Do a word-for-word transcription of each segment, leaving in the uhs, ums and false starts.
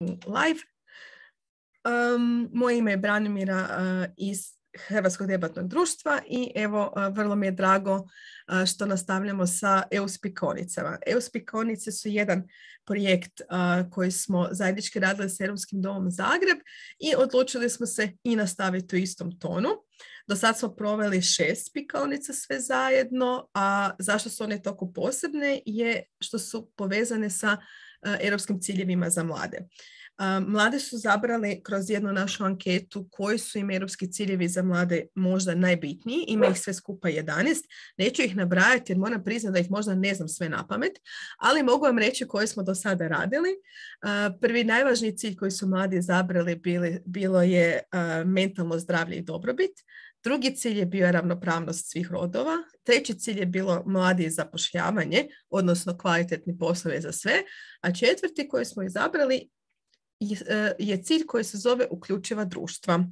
live. Um, moje ime je Branimira uh, iz Hrvatskog debatnog društva i evo uh, vrlo mi je drago uh, što nastavljamo sa E U spikonicama. E U spikonice su jedan projekt uh, koji smo zajednički radili s Europskim domom Zagreb i odlučili smo se i nastaviti u istom tonu. Do sad smo proveli šest spikonica sve zajedno, a zašto su one toliko posebne je što su povezane sa uh, europskim ciljevima za mlade. Mladi su zabrali kroz jednu našu anketu koji su im europski ciljevi za mlade možda najbitniji. Ima ih sve skupa jedanaest. Neću ih nabrajati jer moram priznati da ih možda ne znam sve na pamet, ali mogu vam reći koje smo do sada radili. Prvi najvažniji cilj koji su mladi zabrali bili, bilo je mentalno zdravlje i dobrobit. Drugi cilj je bio ravnopravnost svih rodova. Treći cilj je bilo mladi i zapošljavanje, odnosno kvalitetni poslovi za sve. A četvrti koji smo izabrali je cilj koji se zove uključiva društva.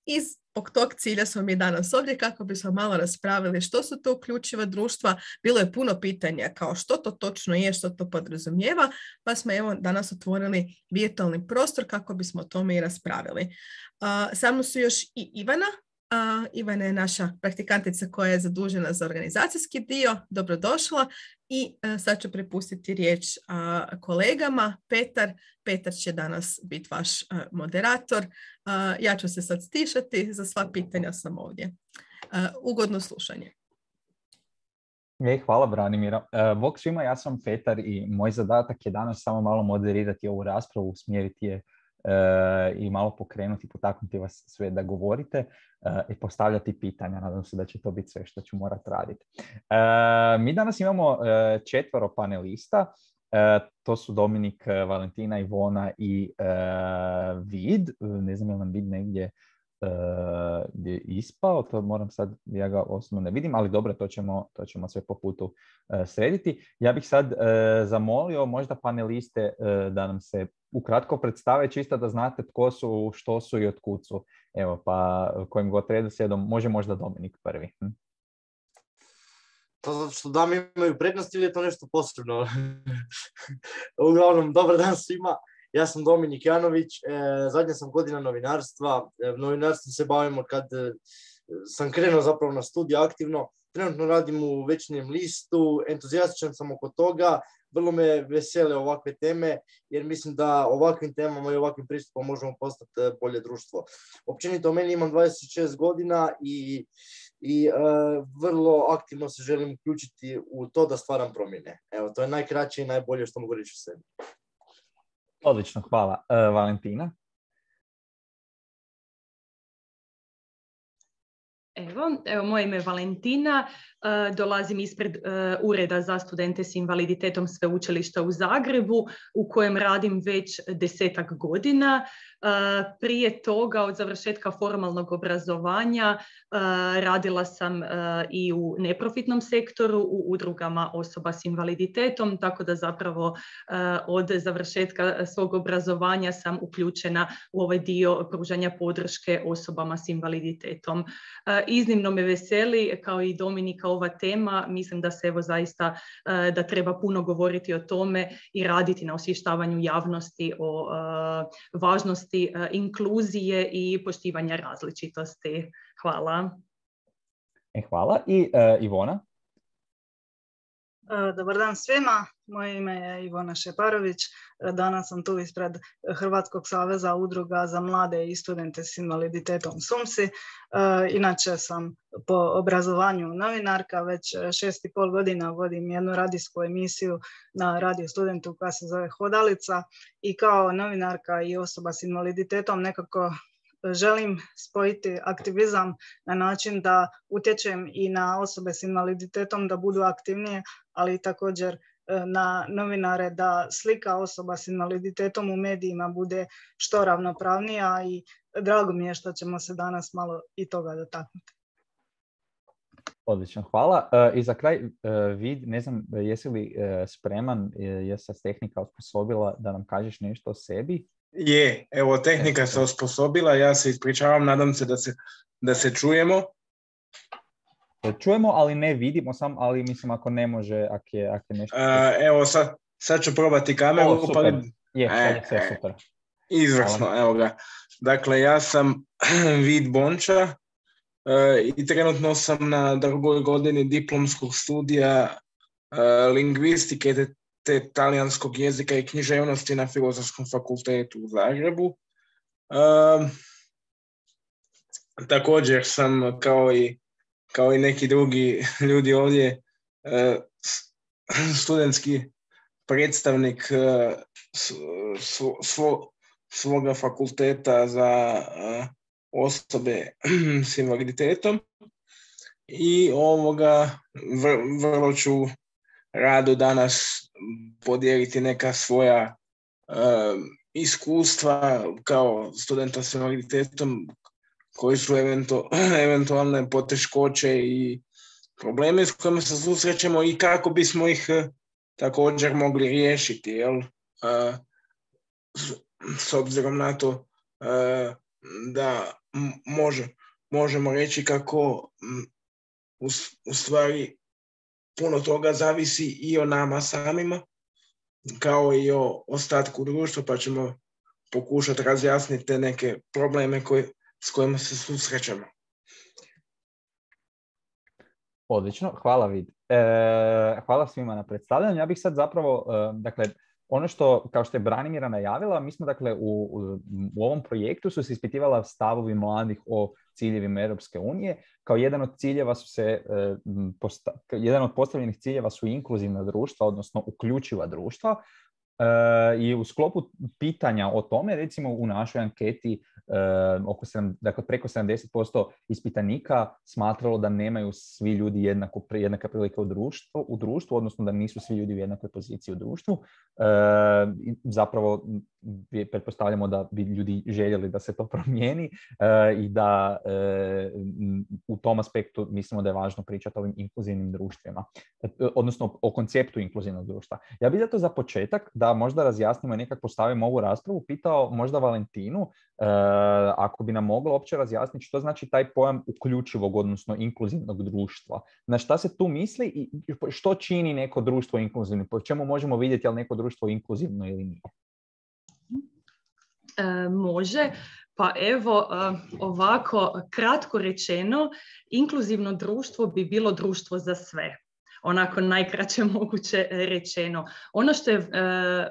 I zbog tog cilja smo mi danas ovdje kako bismo malo raspravili što su to uključiva društva. Bilo je puno pitanja kao što to točno je, što to podrazumijeva, pa smo evo danas otvorili virtualni prostor kako bismo o tome i raspravili. Uh, sa mnom su još i Ivana. Uh, Ivana je naša praktikantica koja je zadužena za organizacijski dio. Dobrodošla i uh, sad ću prepustiti riječ uh, kolegama. Petar, Petar će danas biti vaš uh, moderator. Uh, ja ću se sad stišati, za sva pitanja sam ovdje. Uh, ugodno slušanje. E, hvala Branimira. Uh, Bog svima, ja sam Petar i moj zadatak je danas samo malo moderirati ovu raspravu, usmjeriti je Uh, i malo pokrenuti, potaknuti vas sve da govorite uh, i postavljati pitanja. Nadam se da će to biti sve što ću morati raditi. Uh, mi danas imamo uh, četvero panelista. Uh, to su Dominik, uh, Valentina, Ivona i uh, Vid. Uh, ne znam je li nam Vid negdje uh, je ispao. To moram sad, ja ga osobno ne vidim, ali dobro, to ćemo, to ćemo sve po putu uh, srediti. Ja bih sad uh, zamolio možda paneliste uh, da nam se ukratko predstave, čisto da znate tko su, što su i od kud su. Evo, pa kojim god redoslijedom, može možda Dominik prvi. Hm? To zato što dame imaju prednost ili je to nešto posebno? Uglavnom, dobar dan svima. Ja sam Dominik Janović, e, zadnja sam godina novinarstva. E, novinarstvom se bavimo kad e, sam krenuo zapravo na studij aktivno. Trenutno radim u Večernjem listu, entuzijastičan sam oko toga. Vrlo me vesele ovakve teme, jer mislim da ovakvim temama i ovakvim pristupom možemo postati bolje društvo. Općenito, meni imam dvadeset šest godina i, i e, vrlo aktivno se želim uključiti u to da stvaram promjene. Evo, to je najkraće i najbolje što mogu reći u sebi. Odlično, hvala. E, Valentina? Evo, evo, moje ime je Valentina, uh, dolazim ispred uh, Ureda za studente s invaliditetom Sveučilišta u Zagrebu, u kojem radim već desetak godina. Uh, prije toga, od završetka formalnog obrazovanja, uh, radila sam uh, i u neprofitnom sektoru, u udrugama osoba s invaliditetom, tako da zapravo uh, od završetka svog obrazovanja sam uključena u ovaj dio pružanja podrške osobama s invaliditetom. Uh, Iznimno me veseli, kao i Dominika, ova tema. Mislim da se evo zaista da treba puno govoriti o tome i raditi na osvještavanju javnosti o uh, važnosti uh, inkluzije i poštivanja različitosti. Hvala. E, hvala. I uh, Ivona? Dobar dan svima, moje ime je Ivona Šeparović, danas sam tu ispred Hrvatskog saveza udruga za mlade i studente s invaliditetom SUMSI. Inače sam po obrazovanju novinarka, već šest i pol godina vodim jednu radijsku emisiju na Radio Studentu koja se zove Hodalica i kao novinarka i osoba s invaliditetom nekako želim spojiti aktivizam na način da utječem i na osobe s invaliditetom da budu aktivnije, ali također na novinare da slika osoba s invaliditetom u medijima bude što ravnopravnija i drago mi je što ćemo se danas malo i toga dotaknuti. Odlično, hvala. I za kraj, Vid, ne znam, jesi li spreman, je se tehnika osposobila da nam kažeš nešto o sebi? Je, evo, tehnika se osposobila, ja se ispričavam, nadam se da se, da se čujemo. Čujemo, ali ne vidimo sam, ali mislim ako ne može, ako je, ako je nešto... Uh, evo, sad, sad ću probati kameru, o, super, pa, Je, sad je sve E, e, super. Izvrsno, Hvala. evo ga. Dakle, ja sam Vid Bonča e, i trenutno sam na drugoj godini diplomskog studija e, lingvistike te, te talijanskog jezika i književnosti na Filozofskom fakultetu u Zagrebu. E, također sam kao i, kao i neki drugi ljudi ovdje e, studentski predstavnik e, svo, svo, svoga fakulteta za uh, osobe s invaliditetom i ovoga vr, vrlo ću rado danas podijeliti neka svoja uh, iskustva kao studenta s invaliditetom koji su eventu, eventualne poteškoće i probleme s kojima se susrećemo i kako bismo ih uh, također mogli riješiti, jel? Uh, s obzirom na to uh, da može, možemo reći kako u, u stvari puno toga zavisi i o nama samima, kao i o ostatku društva, pa ćemo pokušati razjasniti te neke probleme koje, s kojima se susrećemo. Odlično, hvala Vid. E, hvala svima na predstavljanju. Ja bih sad zapravo, e, dakle, ono što, kao što je Branimira najavila, mi smo dakle u, u, u ovom projektu su se ispitivala stavovi mladih o ciljevima Europske unije. Kao jedan od ciljeva su se, e, posta, jedan od postavljenih ciljeva su inkluzivna društva, odnosno uključiva društva. E, I u sklopu pitanja o tome, recimo u našoj anketi, e, oko sedam, dakle preko sedamdeset posto ispitanika smatralo da nemaju svi ljudi jednako, jednaka prilike u društvu, u društvu, odnosno da nisu svi ljudi u jednakoj poziciji u društvu. E, zapravo pretpostavljamo da bi ljudi željeli da se to promijeni e, i da e, u tom aspektu mislimo da je važno pričati o ovim inkluzivnim društvima, e, odnosno o konceptu inkluzivnog društva. Ja bih zato za početak da možda razjasnimo i nekako postavimo ovu raspravu, pitao možda Valentinu, e, ako bi nam mogla uopće razjasniti što znači taj pojam uključivog, odnosno inkluzivnog društva. Na šta se tu misli i što čini neko društvo inkluzivno? Po čemu možemo vidjeti je li neko društvo inkluzivno ili nije? E, može. Pa evo, ovako kratko rečeno, inkluzivno društvo bi bilo društvo za sve. Onako najkraće moguće rečeno. Ono što je e,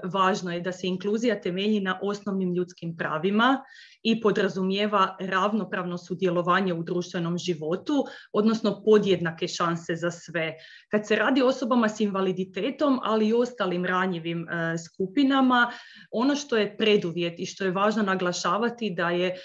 važno je da se inkluzija temelji na osnovnim ljudskim pravima i podrazumijeva ravnopravno sudjelovanje u društvenom životu, odnosno podjednake šanse za sve. Kad se radi o osobama s invaliditetom, ali i ostalim ranjivim e, skupinama, ono što je preduvjet i što je važno naglašavati da je e,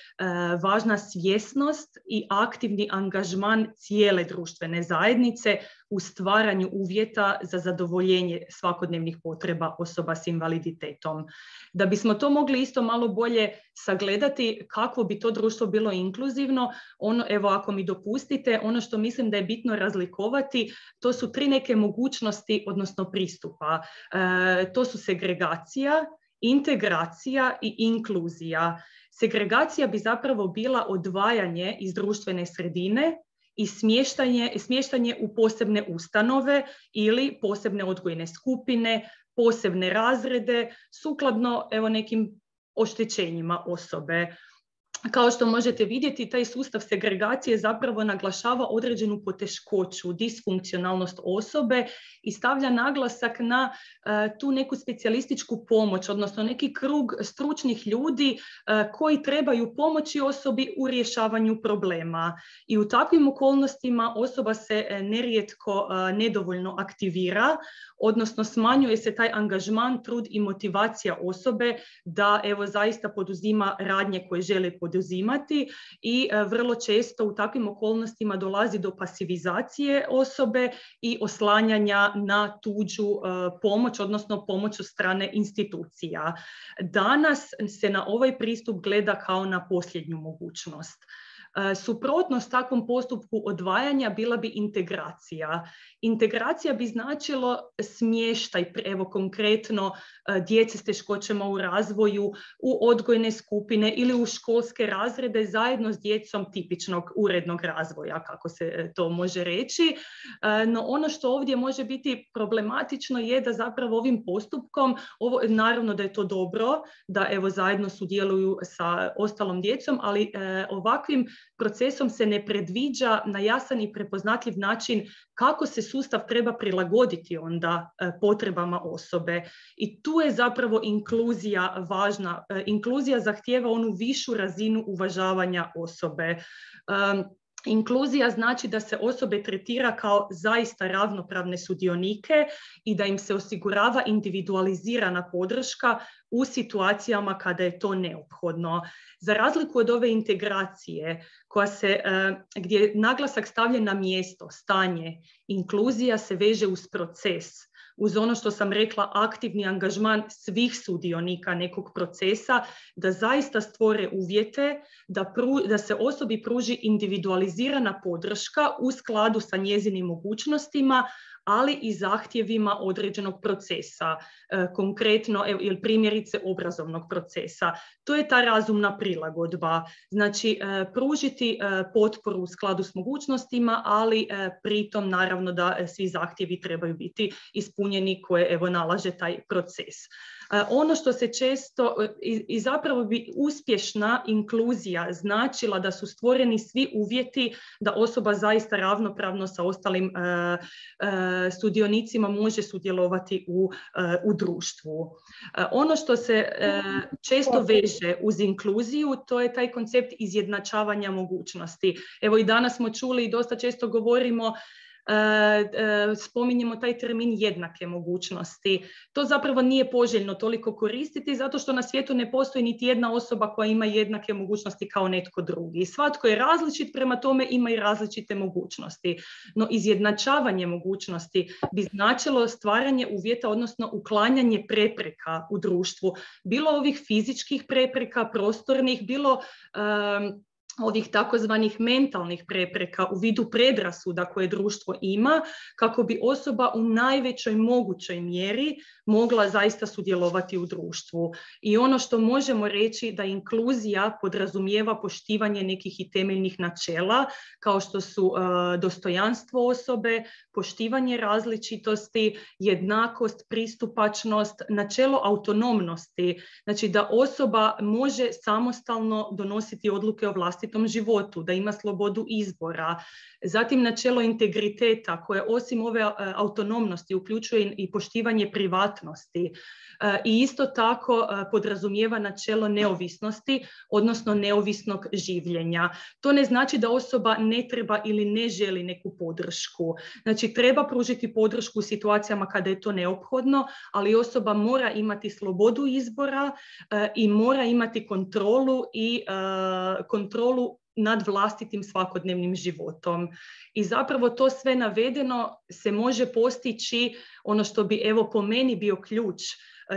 važna svjesnost i aktivni angažman cijele društvene zajednice u stvaranju uvjeta za zadovoljenje svakodnevnih potreba osoba s invaliditetom. Da bismo to mogli isto malo bolje sagledati kakvo bi to društvo bilo inkluzivno, ono, evo ako mi dopustite, ono što mislim da je bitno razlikovati, to su tri neke mogućnosti, odnosno pristupa. E, to su segregacija, integracija i inkluzija. Segregacija bi zapravo bila odvajanje iz društvene sredine i smještanje, smještanje u posebne ustanove ili posebne odgojne skupine, posebne razrede, sukladno evo nekim oštećenjima osobe. Kao što možete vidjeti, taj sustav segregacije zapravo naglašava određenu poteškoću, disfunkcionalnost osobe i stavlja naglasak na uh, tu neku specijalističku pomoć, odnosno neki krug stručnih ljudi uh, koji trebaju pomoći osobi u rješavanju problema. I u takvim okolnostima osoba se uh, nerijetko uh, nedovoljno aktivira, odnosno smanjuje se taj angažman, trud i motivacija osobe da evo zaista poduzima radnje koje žele poduzimati poduzimati i vrlo često u takvim okolnostima dolazi do pasivizacije osobe i oslanjanja na tuđu pomoć, odnosno pomoć od strane institucija. Danas se na ovaj pristup gleda kao na posljednju mogućnost. Suprotnost takvom postupku odvajanja bila bi integracija. Integracija bi značilo smještaj, evo konkretno djece s teškoćama u razvoju, u odgojne skupine ili u školske razrede zajedno s djecom tipičnog urednog razvoja, kako se to može reći. No ono što ovdje može biti problematično je da zapravo ovim postupkom, ovo, naravno da je to dobro, da evo zajedno sudjeluju sa ostalom djecom, ali e, ovakvim procesom se ne predviđa na jasan i prepoznatljiv način kako se sustav treba prilagoditi onda e, potrebama osobe. I tu je zapravo inkluzija važna. E, inkluzija zahtijeva onu višu razinu uvažavanja osobe. E, Inkluzija znači da se osobe tretira kao zaista ravnopravne sudionike i da im se osigurava individualizirana podrška u situacijama kada je to neophodno. Za razliku od ove integracije koja se, gdje je naglasak stavljen na mjesto, stanje, inkluzija se veže uz proces, uz ono što sam rekla, aktivni angažman svih sudionika nekog procesa, da zaista stvore uvjete da, pru, da se osobi pruži individualizirana podrška u skladu sa njezinim mogućnostima, ali i zahtjevima određenog procesa, e, konkretno ili primjerice obrazovnog procesa. To je ta razumna prilagodba. Znači, e, pružiti e, potporu u skladu s mogućnostima, ali e, pritom naravno da svi zahtjevi trebaju biti ispunjeni koje evo nalaže taj proces. Ono što se često i, i zapravo bi uspješna inkluzija značila da su stvoreni svi uvjeti da osoba zaista ravnopravno sa ostalim uh, uh, sudionicima može sudjelovati u, uh, u društvu. Uh, ono što se uh, često veže uz inkluziju, to je taj koncept izjednačavanja mogućnosti. Evo i danas smo čuli i dosta često govorimo spominjemo taj termin jednake mogućnosti. To zapravo nije poželjno toliko koristiti zato što na svijetu ne postoji niti jedna osoba koja ima jednake mogućnosti kao netko drugi. Svatko je različit, prema tome ima i različite mogućnosti. No izjednačavanje mogućnosti bi značilo stvaranje uvjeta, odnosno uklanjanje prepreka u društvu. Bilo ovih fizičkih prepreka, prostornih, bilo um, ovih takozvanih mentalnih prepreka u vidu predrasuda koje društvo ima, kako bi osoba u najvećoj mogućoj mjeri mogla zaista sudjelovati u društvu. I ono što možemo reći da inkluzija podrazumijeva poštivanje nekih i temeljnih načela, kao što su uh, dostojanstvo osobe, poštivanje različitosti, jednakost, pristupačnost, načelo autonomnosti, znači da osoba može samostalno donositi odluke o vlastitom životu, da ima slobodu izbora. Zatim načelo integriteta koje osim ove autonomnosti uključuje i poštivanje privatnosti i isto tako podrazumijeva načelo neovisnosti, odnosno neovisnog življenja. To ne znači da osoba ne treba ili ne želi neku podršku. Znači treba pružiti podršku u situacijama kada je to neophodno, ali osoba mora imati slobodu izbora i mora imati kontrolu i kontrolu nad vlastitim svakodnevnim životom. I zapravo to sve navedeno se može postići, ono što bi evo po meni bio ključ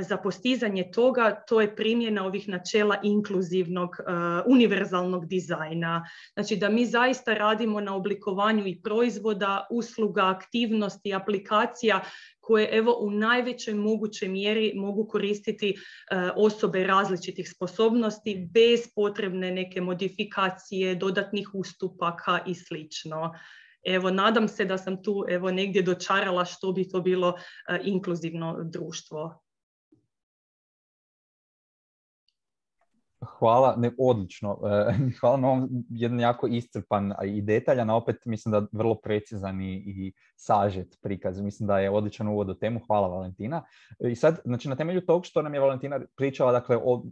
za postizanje toga, to je primjena ovih načela inkluzivnog, uh, univerzalnog dizajna. Znači da mi zaista radimo na oblikovanju i proizvoda, usluga, aktivnosti, aplikacija koje evo u najvećoj mogućoj mjeri mogu koristiti uh, osobe različitih sposobnosti bez potrebne neke modifikacije, dodatnih ustupaka i slično. Evo, nadam se da sam tu evo negdje dočarala što bi to bilo uh, inkluzivno društvo. Hvala, ne, odlično. Hvala na ovom jedan jako iscrpan i detaljan, a opet mislim da vrlo precizan i, i sažet prikaz. Mislim da je odličan uvod u temu. Hvala, Valentina. I sad, znači, na temelju tog što nam je Valentina pričala, dakle, o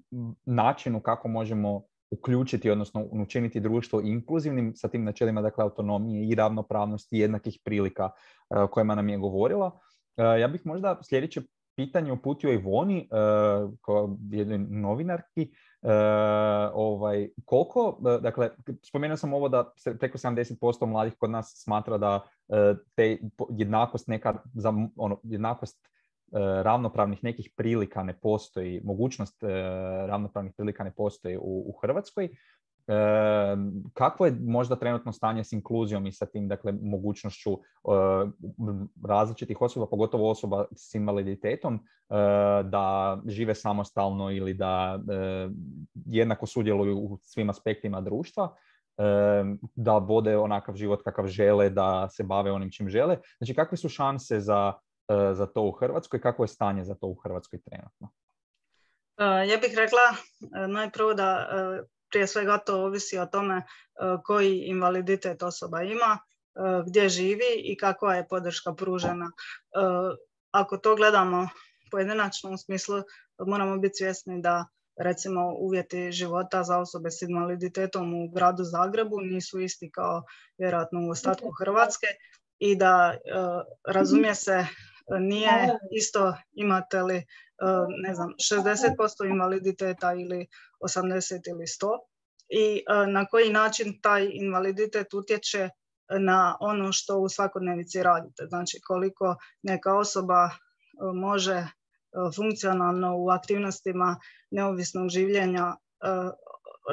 načinu kako možemo uključiti, odnosno učiniti društvo inkluzivnim sa tim načelima, dakle, autonomije i ravnopravnosti i jednakih prilika o kojima nam je govorila. Ja bih možda sljedeće pitanje uputio Ivoni, uh, kao jednoj novinarki. Uh, ovaj, koliko, uh, dakle, spomenuo sam ovo da se preko sedamdeset posto mladih kod nas smatra da uh, te jednakost neka, za, ono, jednakost uh, ravnopravnih nekih prilika ne postoji, mogućnost uh, ravnopravnih prilika ne postoji u, u Hrvatskoj. Kako je možda trenutno stanje s inkluzijom i sa tim, dakle, mogućnošću e, različitih osoba, pogotovo osoba s invaliditetom, e, da žive samostalno ili da e, jednako sudjeluju u svim aspektima društva, e, da vode onakav život kakav žele, da se bave onim čim žele. Znači, kakve su šanse za, e, za to u Hrvatskoj? Kako je stanje za to u Hrvatskoj trenutno? Ja bih rekla najprvo da prije svega to ovisi o tome koji invaliditet osoba ima, gdje živi i kakva je podrška pružena. Ako to gledamo pojedinačno u smislu, moramo biti svjesni da recimo uvjeti života za osobe s invaliditetom u gradu Zagrebu nisu isti kao vjerojatno u ostatku Hrvatske i da razumije se nije isto imate li ne znam, šezdeset posto invaliditeta ili osamdeset ili sto i na koji način taj invaliditet utječe na ono što u svakodnevici radite. Znači koliko neka osoba može funkcionalno u aktivnostima neovisnog življenja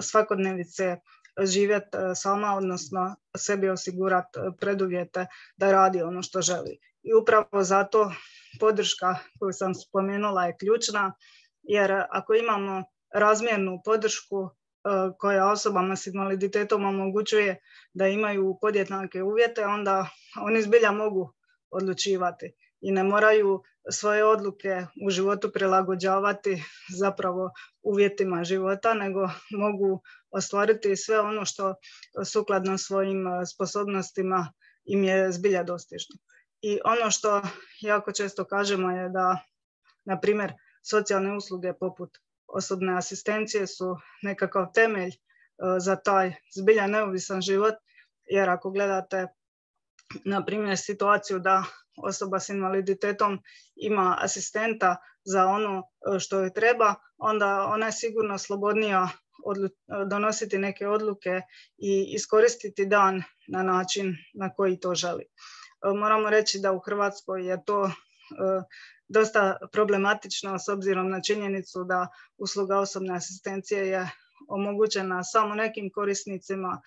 svakodnevice živjeti sama, odnosno sebi osigurati preduvjete da radi ono što želi. I upravo zato podrška koju sam spomenula je ključna, jer ako imamo razmjernu podršku koja osobama s invaliditetom omogućuje da imaju podjednake uvjete, onda oni zbilja mogu odlučivati i ne moraju svoje odluke u životu prilagođavati zapravo uvjetima života, nego mogu ostvariti sve ono što sukladno svojim sposobnostima im je zbilja dostižno. I ono što jako često kažemo je da, na primjer, socijalne usluge poput osobne asistencije su nekakav temelj za taj zbilja neovisan život, jer ako gledate, na primjer, situaciju da osoba s invaliditetom ima asistenta za ono što joj treba, onda ona je sigurno slobodnija odlu- donositi neke odluke i iskoristiti dan na način na koji to želi. Moramo reći da u Hrvatskoj je to dosta problematično s obzirom na činjenicu da usluga osobne asistencije je omogućena samo nekim korisnicima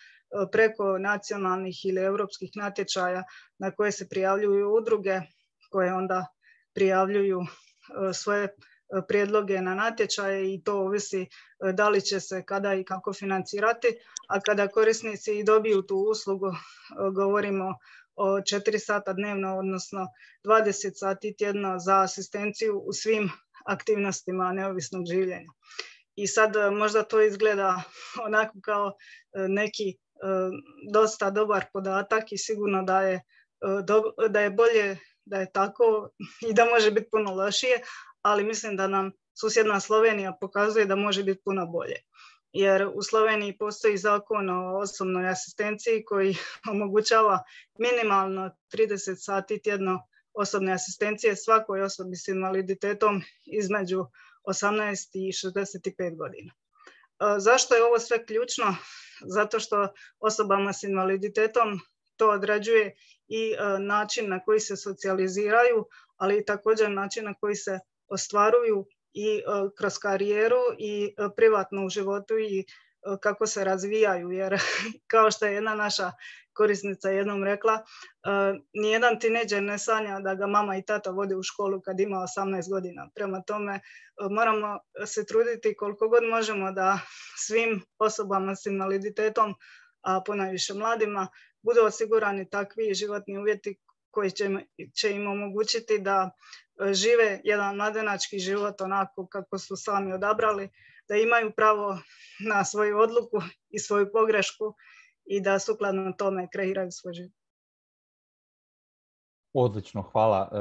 preko nacionalnih ili europskih natječaja na koje se prijavljuju udruge koje onda prijavljuju svoje prijedloge na natječaje i to ovisi da li će se kada i kako financirati, a kada korisnici dobiju tu uslugu govorimo o četiri sata dnevno, odnosno dvadeset sati tjedno za asistenciju u svim aktivnostima neovisnog življenja. I sad možda to izgleda onako kao neki dosta dobar podatak i sigurno da je, da je bolje da je tako i da može biti puno lošije, ali mislim da nam susjedna Slovenija pokazuje da može biti puno bolje. Jer u Sloveniji postoji zakon o osobnoj asistenciji koji omogućava minimalno trideset sati tjedno osobne asistencije svakoj osobi s invaliditetom između osamnaest i šezdeset pet godina. Zašto je ovo sve ključno? Zato što osobama s invaliditetom to određuje i način na koji se socijaliziraju, ali i također način na koji se ostvaruju i kroz karijeru i privatno u životu i kako se razvijaju, jer kao što je jedna naša korisnica jednom rekla, nijedan tinejdžer ne sanja da ga mama i tata vode u školu kad ima osamnaest godina. Prema tome moramo se truditi koliko god možemo da svim osobama s invaliditetom, a ponajviše mladima, budu osigurani takvi životni uvjeti koji će, će im omogućiti da žive jedan mladenački život onako kako su sami odabrali, da imaju pravo na svoju odluku i svoju pogrešku i da sukladno tome kreiraju svoj život. Odlično, hvala.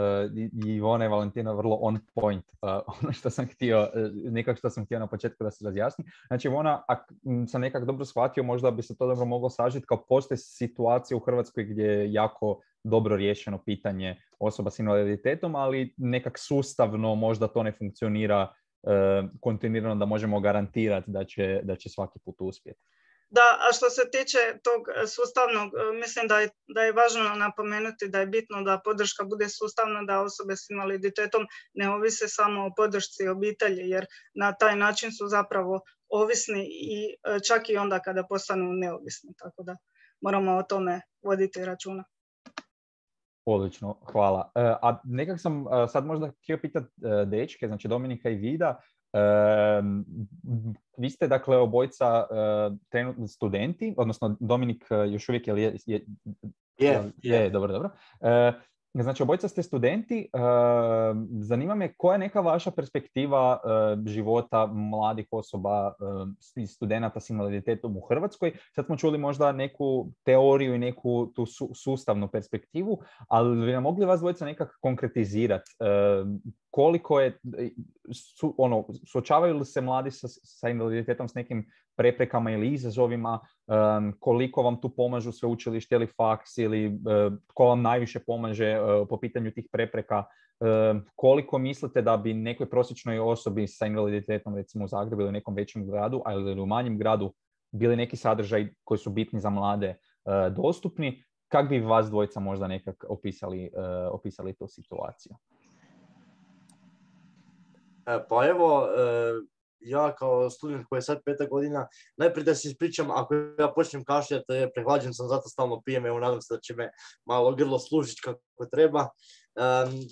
I Ivona i Valentina vrlo on point. Ono što sam htio, nekako što sam htio na početku da se razjasni. Znači, Ivona, ako sam nekako dobro shvatio, možda bi se to dobro moglo sažiti kao postoje situacija u Hrvatskoj gdje je jako dobro riješeno pitanje osoba s invaliditetom, ali nekak sustavno možda to ne funkcionira kontinuirano da možemo garantirati da će, da će svaki put uspjeti. Da, a što se tiče tog sustavnog, mislim da je, da je važno napomenuti da je bitno da podrška bude sustavna, da osobe s invaliditetom ne ovise samo o podršci obitelji, jer na taj način su zapravo ovisni i čak i onda kada postanu neovisni. Tako da moramo o tome voditi računa. Odlično, hvala. A nekak sam sad možda htio pitati dečke, znači Dominika i Vida. Uh, vi ste dakle obojica uh, trenutno studenti, odnosno Dominik uh, još uvijek je, je, je, je, je, je dobro, dobro. Uh, znači obojica ste studenti, uh, zanima me koja je neka vaša perspektiva uh, života mladih osoba i uh, studenata s invaliditetom u Hrvatskoj. Sad smo čuli možda neku teoriju i neku tu su, sustavnu perspektivu, ali bi nam mogli vas dvojica nekako konkretizirati uh, koliko je, su, ono, suočavaju li se mladi sa, sa invaliditetom s nekim preprekama ili izazovima, um, koliko vam tu pomažu sveučilište ili faks ili uh, ko vam najviše pomaže uh, po pitanju tih prepreka, uh, koliko mislite da bi nekoj prosječnoj osobi sa invaliditetom, recimo u Zagrebu ili u nekom većem gradu, ali u manjem gradu, bili neki sadržaj koji su bitni za mlade uh, dostupni, kako bi vas dvojica možda nekak opisali, uh, opisali tu situaciju? Pa evo, ja kao student koji je sad peta godina, najprije da se ispričam, ako ja počnem kašljati, prehlađen sam, zato stalno pijem, evo nadam se da će me malo grlo služiti kako treba.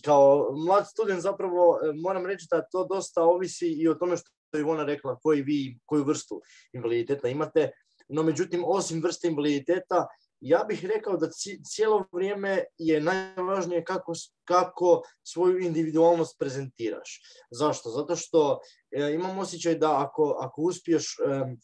Kao mlad student zapravo moram reći da to dosta ovisi i o tome što je Ivona rekla, koji vi, koju vrstu invaliditeta imate, no međutim, osim vrste invaliditeta, ja bih rekao da cijelo vrijeme je najvažnije kako, kako svoju individualnost prezentiraš. Zašto? Zato što e, imam osjećaj da ako, ako uspiješ e,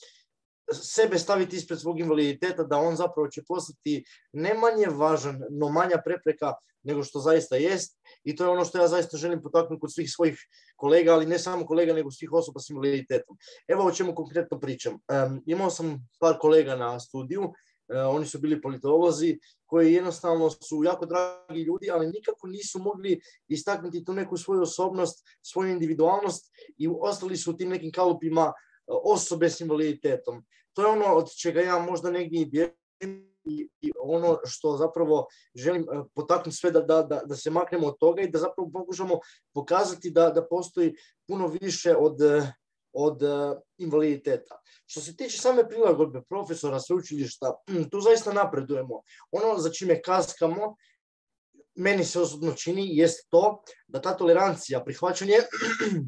sebe staviti ispred svog invaliditeta, da on zapravo će postati ne manje važan, no manja prepreka nego što zaista jest. I to je ono što ja zaista želim potaknuti kod svih svojih kolega, ali ne samo kolega, nego svih osoba s invaliditetom. Evo o čemu konkretno pričam. E, imao sam par kolega na studiju. Uh, oni su bili politolozi koji jednostavno su jako dragi ljudi, ali nikako nisu mogli istaknuti tu neku svoju osobnost, svoju individualnost i ostali su u tim nekim kalupima uh, osobe s invaliditetom. To je ono od čega ja možda negdje i bježim i, i ono što zapravo želim uh, potaknuti sve da, da, da, da se maknemo od toga i da zapravo pokušamo pokazati da, da postoji puno više od uh, od uh, invaliditeta. Što se tiče same prilagodbe profesora, sveučilišta, tu zaista napredujemo. Ono za čime kaskamo, meni se osobno čini, jest to da ta tolerancija, prihvaćanje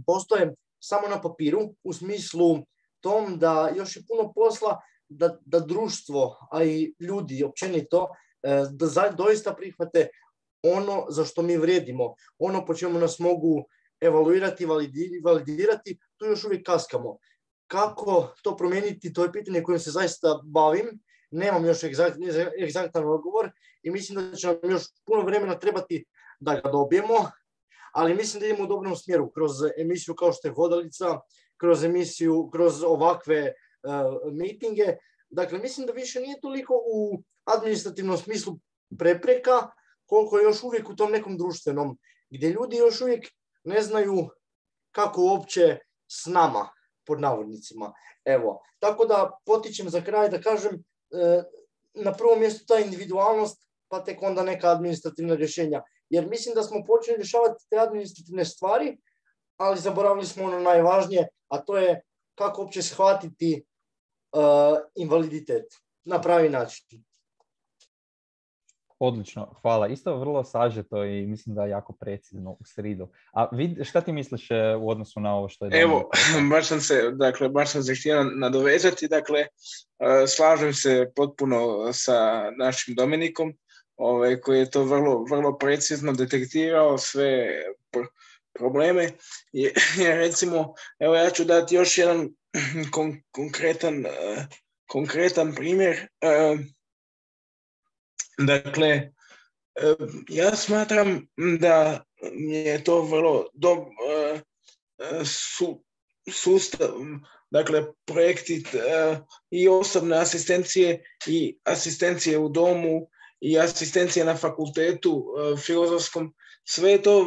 postoje samo na papiru, u smislu tom da još je puno posla da, da društvo, a i ljudi općenito, da za, doista prihvate ono za što mi vrijedimo, ono po čemu nas mogu evaluirati, validirati, tu još uvijek kaskamo. Kako to promijeniti, to je pitanje kojim se zaista bavim. Nemam još egzaktan odgovor i mislim da će nam još puno vremena trebati da ga dobijemo, ali mislim da idemo u dobrom smjeru kroz emisiju kao što je Hodalica, kroz emisiju, kroz ovakve uh, mitinge. Dakle, mislim da više nije toliko u administrativnom smislu prepreka, koliko je još uvijek u tom nekom društvenom, gdje ljudi još uvijek ne znaju kako uopće s nama, pod navodnicima. Evo, tako da potičem za kraj da kažem e, na prvom mjestu ta individualnost, pa tek onda neka administrativna rješenja. Jer mislim da smo počeli rješavati te administrativne stvari, ali zaboravili smo ono najvažnije, a to je kako uopće shvatiti e, invaliditet na pravi način. Odlično, hvala. Isto vrlo sažeto i mislim da je jako precizno u sridu. A vid, šta ti misliš u odnosu na ovo što je... Evo, baš sam se, dakle, baš sam se htio nadovezati, dakle, slažem se potpuno sa našim Dominikom, ovaj, koji je to vrlo, vrlo precizno detektirao sve probleme. I, recimo, evo ja ću dati još jedan kon, konkretan, konkretan primjer. Dakle, ja smatram da je to vrlo dobro su, sustav, dakle, projekti i osobne asistencije i asistencije u domu i asistencije na fakultetu filozofskom, sve je to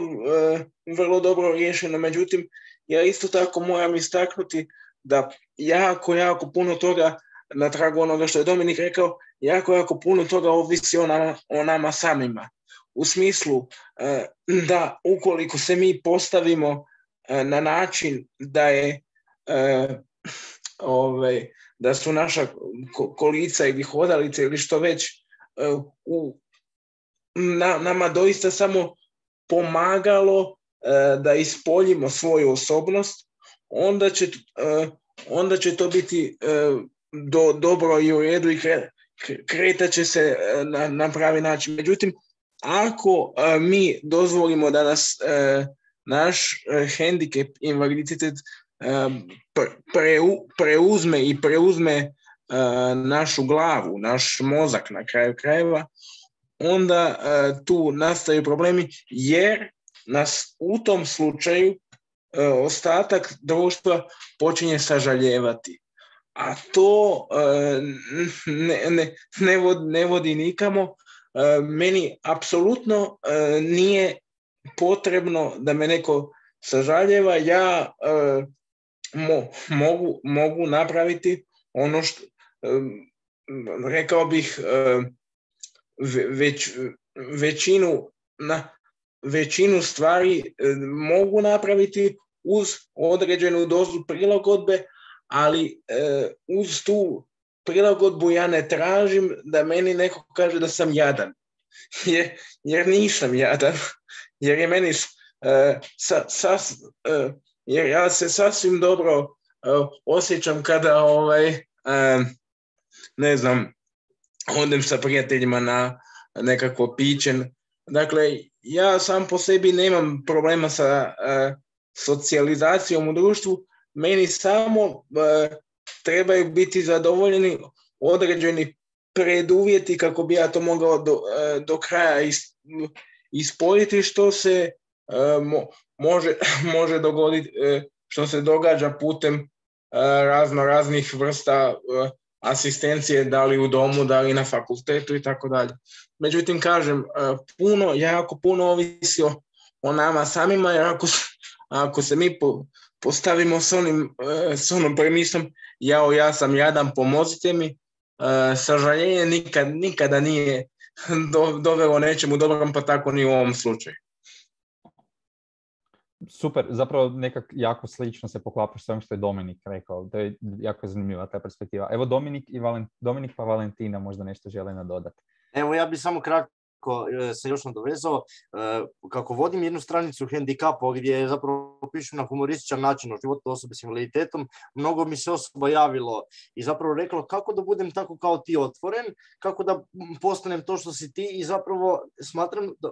vrlo dobro riješeno. Međutim, ja isto tako moram istaknuti da jako, jako puno toga na tragu onoga što je Dominik rekao, jako, jako puno toga ovisi o nama, o nama samima. U smislu da ukoliko se mi postavimo na način da je ovaj, da su naša kolica ili hodalice ili što već u, na, nama doista samo pomagalo da ispoljimo svoju osobnost, onda će, onda će to biti do, dobro i u redu i kre, kretat će se na, na pravi način. Međutim, ako mi dozvolimo da nas naš hendikep, invaliditet preuzme i preuzme našu glavu, naš mozak na kraju krajeva, onda tu nastaju problemi jer nas u tom slučaju ostatak društva počinje sažaljevati. A to ne, ne, ne, vodi, ne vodi nikamo. Meni apsolutno nije potrebno da me neko sažaljeva. Ja mo, mogu, mogu napraviti ono što, rekao bih, već, većinu, na, većinu stvari mogu napraviti uz određenu dozu prilagodbe, ali uz tu prilagodbu ja ne tražim da meni neko kaže da sam jadan, jer, jer nisam jadan, jer je meni uh, sa, sas, uh, jer ja se sasvim dobro uh, osjećam kada ovaj, uh, ne znam, odem sa prijateljima na nekakvo piće. Dakle, ja sam po sebi nemam problema sa uh, socijalizacijom u društvu, meni samo uh, trebaju biti zadovoljeni određeni preduvjeti kako bi ja to mogao do, do kraja is, ispojiti, što se uh, mo, može, može dogoditi, uh, što se događa putem uh, razno raznih vrsta uh, asistencije, da li u domu, da li na fakultetu i tako dalje. Međutim, kažem, uh, puno, jako puno ovisi o, o nama samima, jer ako, ako se mi po, postavimo s onim, s onom premisom, jao, ja sam jadan, pomozite mi, sažaljenje nikad, nikada nije do, dovelo nečemu dobrom, pa tako ni u ovom slučaju. Super, zapravo nekak jako slično se poklapa s ovom što je Dominik rekao, to je jako zanimljiva ta perspektiva. Evo Dominik, i Valent, Dominik pa Valentina možda nešto žele nadodati. Evo ja bih samo kratko se još nadovezao, kako vodim jednu stranicu hendikapa gdje zapravo pišem na humorističan način o životu osobe s invaliditetom, mnogo mi se osoba javilo i zapravo reklo kako da budem tako kao ti otvoren, kako da postanem to što si ti i zapravo smatram da,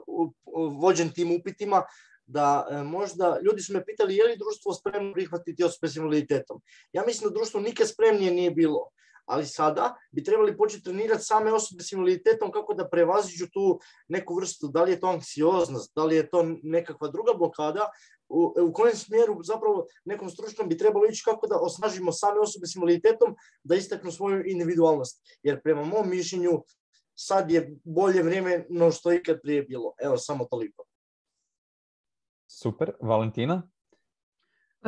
vođen tim upitima da možda ljudi su me pitali je li društvo spremno prihvatiti osobe s invaliditetom. Ja mislim da društvo nikad spremnije nije bilo. Ali sada bi trebali početi trenirati same osobe s invaliditetom kako da prevaziđu tu neku vrstu, da li je to anksioznost, da li je to nekakva druga blokada, u, u kojem smjeru zapravo nekom stručnom bi trebalo ići kako da osnažimo same osobe s invaliditetom da istaknu svoju individualnost. Jer prema mom mišljenju sad je bolje vrijeme no što ikad prije bilo. Evo, samo toliko. Super. Valentina?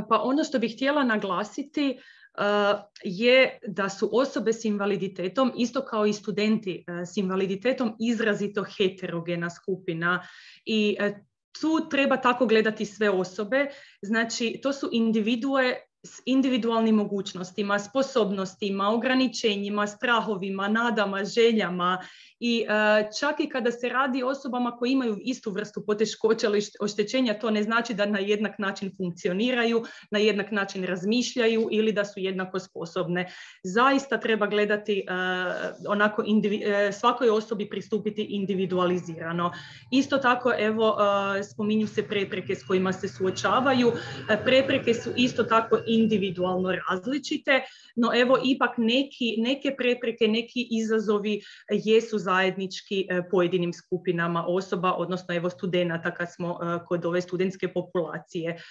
Pa ono što bih htjela naglasiti Uh, je da su osobe s invaliditetom, isto kao i studenti uh, s invaliditetom, izrazito heterogena skupina i uh, tu treba tako gledati sve osobe. Znači, to su individue s individualnim mogućnostima, sposobnostima, ograničenjima, strahovima, nadama, željama i uh, čak i kada se radi o osobama koji imaju istu vrstu poteškoća ili oštećenja, to ne znači da na jednak način funkcioniraju, na jednak način razmišljaju ili da su jednako sposobne. Zaista treba gledati uh, onako indivi- uh, svakoj osobi pristupiti individualizirano. Isto tako, evo, uh, spominju se prepreke s kojima se suočavaju. Uh, prepreke su isto tako individualno različite, no evo ipak neki, neke prepreke, neki izazovi jesu zajednički pojedinim skupinama osoba, odnosno evo studenata kad smo kod ove studentske populacije.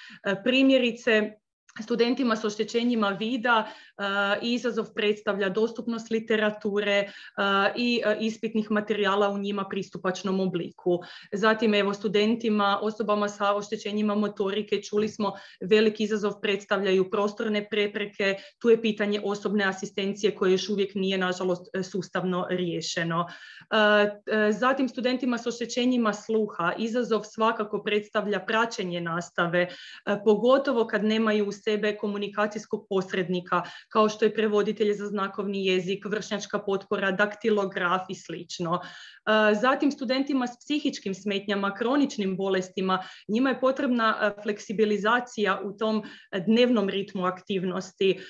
Primjerice, Studentima s oštećenjima vida uh, izazov predstavlja dostupnost literature uh, i uh, ispitnih materijala u njima pristupačnom obliku. Zatim, evo, studentima, osobama sa oštećenjima motorike, čuli smo, veliki izazov predstavljaju prostorne prepreke, tu je pitanje osobne asistencije koje još uvijek nije, nažalost, sustavno riješeno. Uh, uh, zatim, studentima s oštećenjima sluha izazov svakako predstavlja praćenje nastave, uh, pogotovo kad nemaju u sebe komunikacijskog posrednika, kao što je prevoditelj za znakovni jezik, vršnjačka potpora, daktilograf i slično. Zatim, studentima s psihičkim smetnjama, kroničnim bolestima, njima je potrebna fleksibilizacija u tom dnevnom ritmu aktivnosti,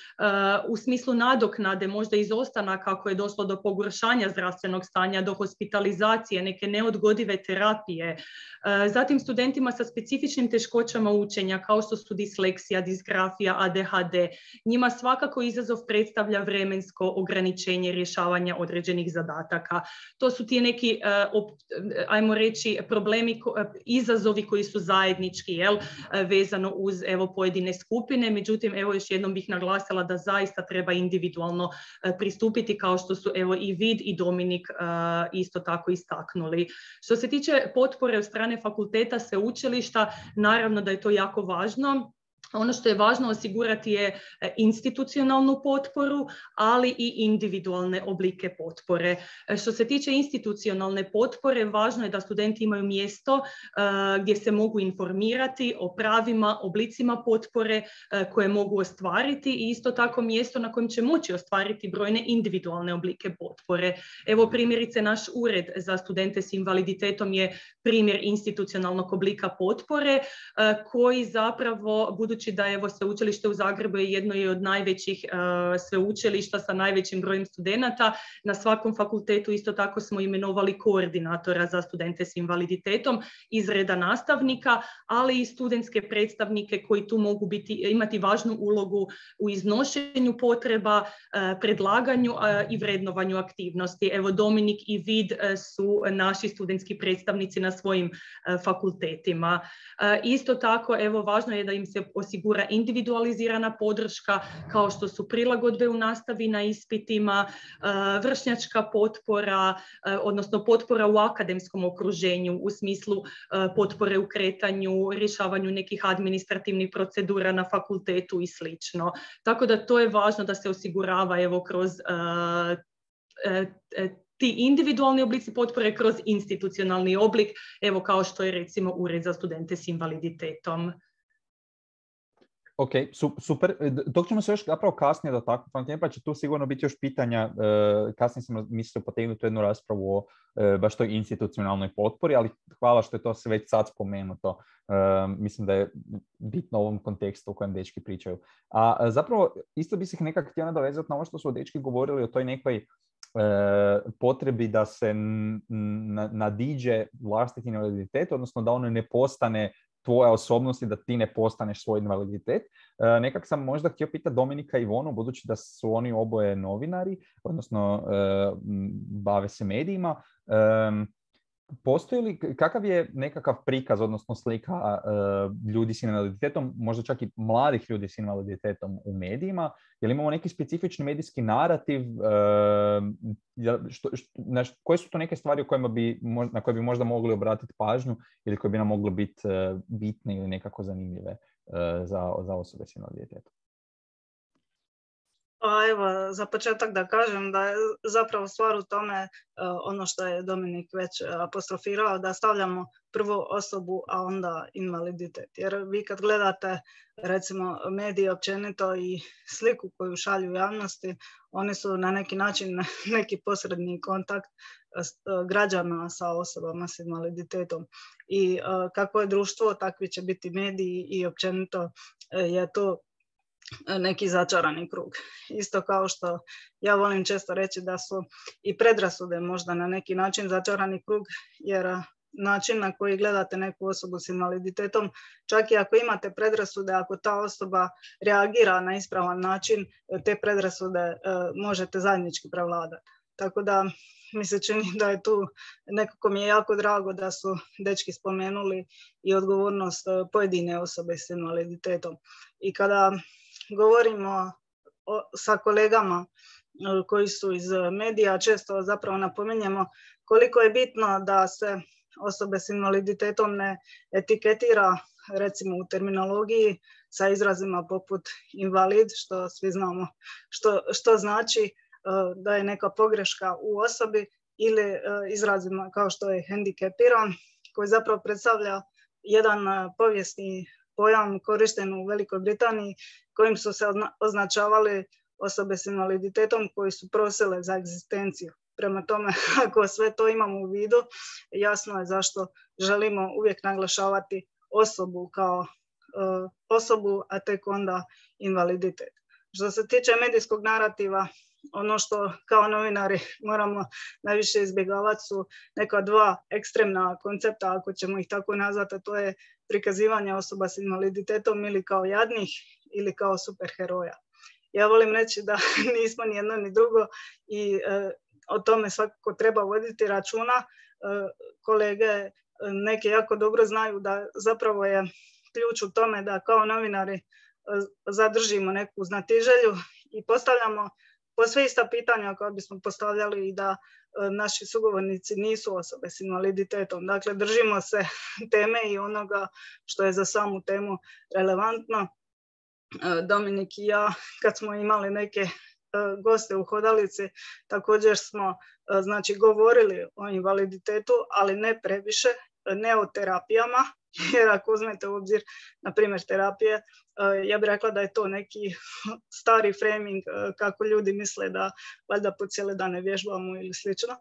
u smislu nadoknade, možda izostanaka ako je došlo do pogoršanja zdravstvenog stanja, do hospitalizacije, neke neodgodive terapije. Zatim, studentima sa specifičnim teškoćama učenja, kao što su disleksija, disgrafija, A D H D, njima svakako izazov predstavlja vremensko ograničenje rješavanja određenih zadataka. To su ti neki, ajmo reći, problemi, izazovi koji su zajednički, jel, vezano uz, evo, pojedine skupine. Međutim, evo, još jednom bih naglasila da zaista treba individualno pristupiti, kao što su, evo, i Vid i Dominik isto tako istaknuli. Što se tiče potpore od strane fakulteta, sveučilišta, naravno da je to jako važno. Ono što je važno osigurati je institucionalnu potporu, ali i individualne oblike potpore. Što se tiče institucionalne potpore, važno je da studenti imaju mjesto uh, gdje se mogu informirati o pravima, oblicima potpore uh, koje mogu ostvariti i isto tako mjesto na kojem će moći ostvariti brojne individualne oblike potpore. Evo, primjerice, naš ured za studente s invaliditetom je primjer institucionalnog oblika potpore uh, koji zapravo, budući da evo, sveučilište u Zagrebu je jedno i od najvećih uh, sveučilišta sa najvećim brojem studenata. Na svakom fakultetu isto tako smo imenovali koordinatora za studente s invaliditetom iz reda nastavnika, ali i studentske predstavnike koji tu mogu biti, imati važnu ulogu u iznošenju potreba, uh, predlaganju uh, i vrednovanju aktivnosti. Evo, Dominik i Vid uh, su naši studentski predstavnici na svojim uh, fakultetima. Uh, isto tako, evo, važno je da im se osigura individualizirana podrška, kao što su prilagodbe u nastavi na ispitima, vršnjačka potpora, odnosno potpora u akademskom okruženju u smislu potpore u kretanju, rješavanju nekih administrativnih procedura na fakultetu i slično. Tako da to je važno da se osigurava, evo, kroz uh, uh, uh, ti individualni oblici potpore, kroz institucionalni oblik, evo, kao što je recimo Ured za studente s invaliditetom. Ok, super. Dok ćemo se još zapravo kasnije dotaknuti, pa će tu sigurno biti još pitanja. Kasnije sam mislio potegnuti jednu raspravu o baš toj institucionalnoj potpori, ali hvala što je to sve već sad spomenuto. Mislim da je bitno u ovom kontekstu u kojem dečki pričaju. A zapravo isto bi se nekako htio nadovezati na ovo što su dečki govorili o toj nekoj potrebi da se nadiđe vlastiti invaliditet, odnosno da ono ne postane tvoja osobnost i da ti ne postaneš svoj invaliditet. E, nekak sam možda htio pitati Dominika i Ivonu, budući da su oni oboje novinari, odnosno e, bave se medijima. E, postoji li, kakav je nekakav prikaz, odnosno slika e, ljudi s invaliditetom, možda čak i mladih ljudi s invaliditetom u medijima? Je li imamo neki specifični medijski narativ? E, što, što, na, koje su to neke stvari o kojima bi, na koje bi možda mogli obratiti pažnju ili koje bi nam mogle biti e, bitne ili nekako zanimljive e, za, za osobe s invaliditetom? Pa evo, za početak da kažem da je zapravo stvar u tome, ono što je Dominik već apostrofirao, da stavljamo prvo osobu, a onda invaliditet. Jer vi kad gledate, recimo, medije općenito i sliku koju šalju u javnosti, oni su na neki način neki posredni kontakt građana sa osobama s invaliditetom. I kako je društvo, takvi će biti mediji i općenito je to neki začarani krug. Isto kao što ja volim često reći da su i predrasude možda na neki način začarani krug, jer način na koji gledate neku osobu s invaliditetom, čak i ako imate predrasude, ako ta osoba reagira na ispravan način, te predrasude možete zajednički prevladati. Tako da mi se čini da je tu, nekako mi je jako drago da su dečki spomenuli i odgovornost pojedine osobe s invaliditetom. I kada govorimo o, sa kolegama koji su iz medija, često zapravo napominjemo koliko je bitno da se osobe s invaliditetom ne etiketira, recimo u terminologiji, sa izrazima poput invalid, što svi znamo što, što znači da je neka pogreška u osobi, ili izrazima kao što je hendikepiran, koji zapravo predstavlja jedan povijesni pojam korišten u Velikoj Britaniji, kojim su se označavali osobe s invaliditetom koji su prosile za egzistenciju. Prema tome, ako sve to imamo u vidu, jasno je zašto želimo uvijek naglašavati osobu kao uh, osobu, a tek onda invaliditet. Što se tiče medijskog narativa, ono što kao novinari moramo najviše izbjegavati su neka dva ekstremna koncepta, ako ćemo ih tako nazvati, a to je prikazivanje osoba s invaliditetom ili kao jadnih ili kao superheroja. Ja volim reći da nismo ni jedno ni drugo i e, o tome svakako treba voditi računa. E, kolege neke jako dobro znaju da zapravo je ključ u tome da kao novinari e, zadržimo neku znatiželju i postavljamo posve ista pitanja koja bismo postavljali i da e, naši sugovornici nisu osobe s invaliditetom. Dakle, držimo se teme i onoga što je za samu temu relevantno. Dominik i ja, kad smo imali neke goste u hodalici, također smo znači, govorili o invaliditetu, ali ne previše, ne o terapijama, jer ako uzmete u obzir, na primjer, terapije, ja bih rekla da je to neki stari framing kako ljudi misle da valjda po cijele dane vježbamo ili slično.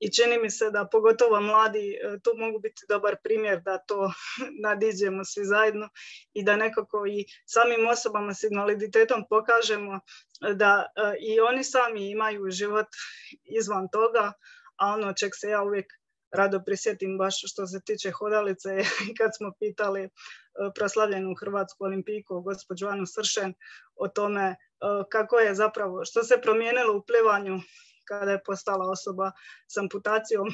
I čini mi se da pogotovo mladi tu mogu biti dobar primjer da to nadiđemo svi zajedno i da nekako i samim osobama s invaliditetom pokažemo da i oni sami imaju život izvan toga, a ono čeg se ja uvijek rado prisjetim baš što se tiče hodalice, kad smo pitali proslavljenu hrvatsku olimpijku gospođu Anu Sršen o tome kako je zapravo, što se promijenilo u plivanju kada je postala osoba s amputacijom.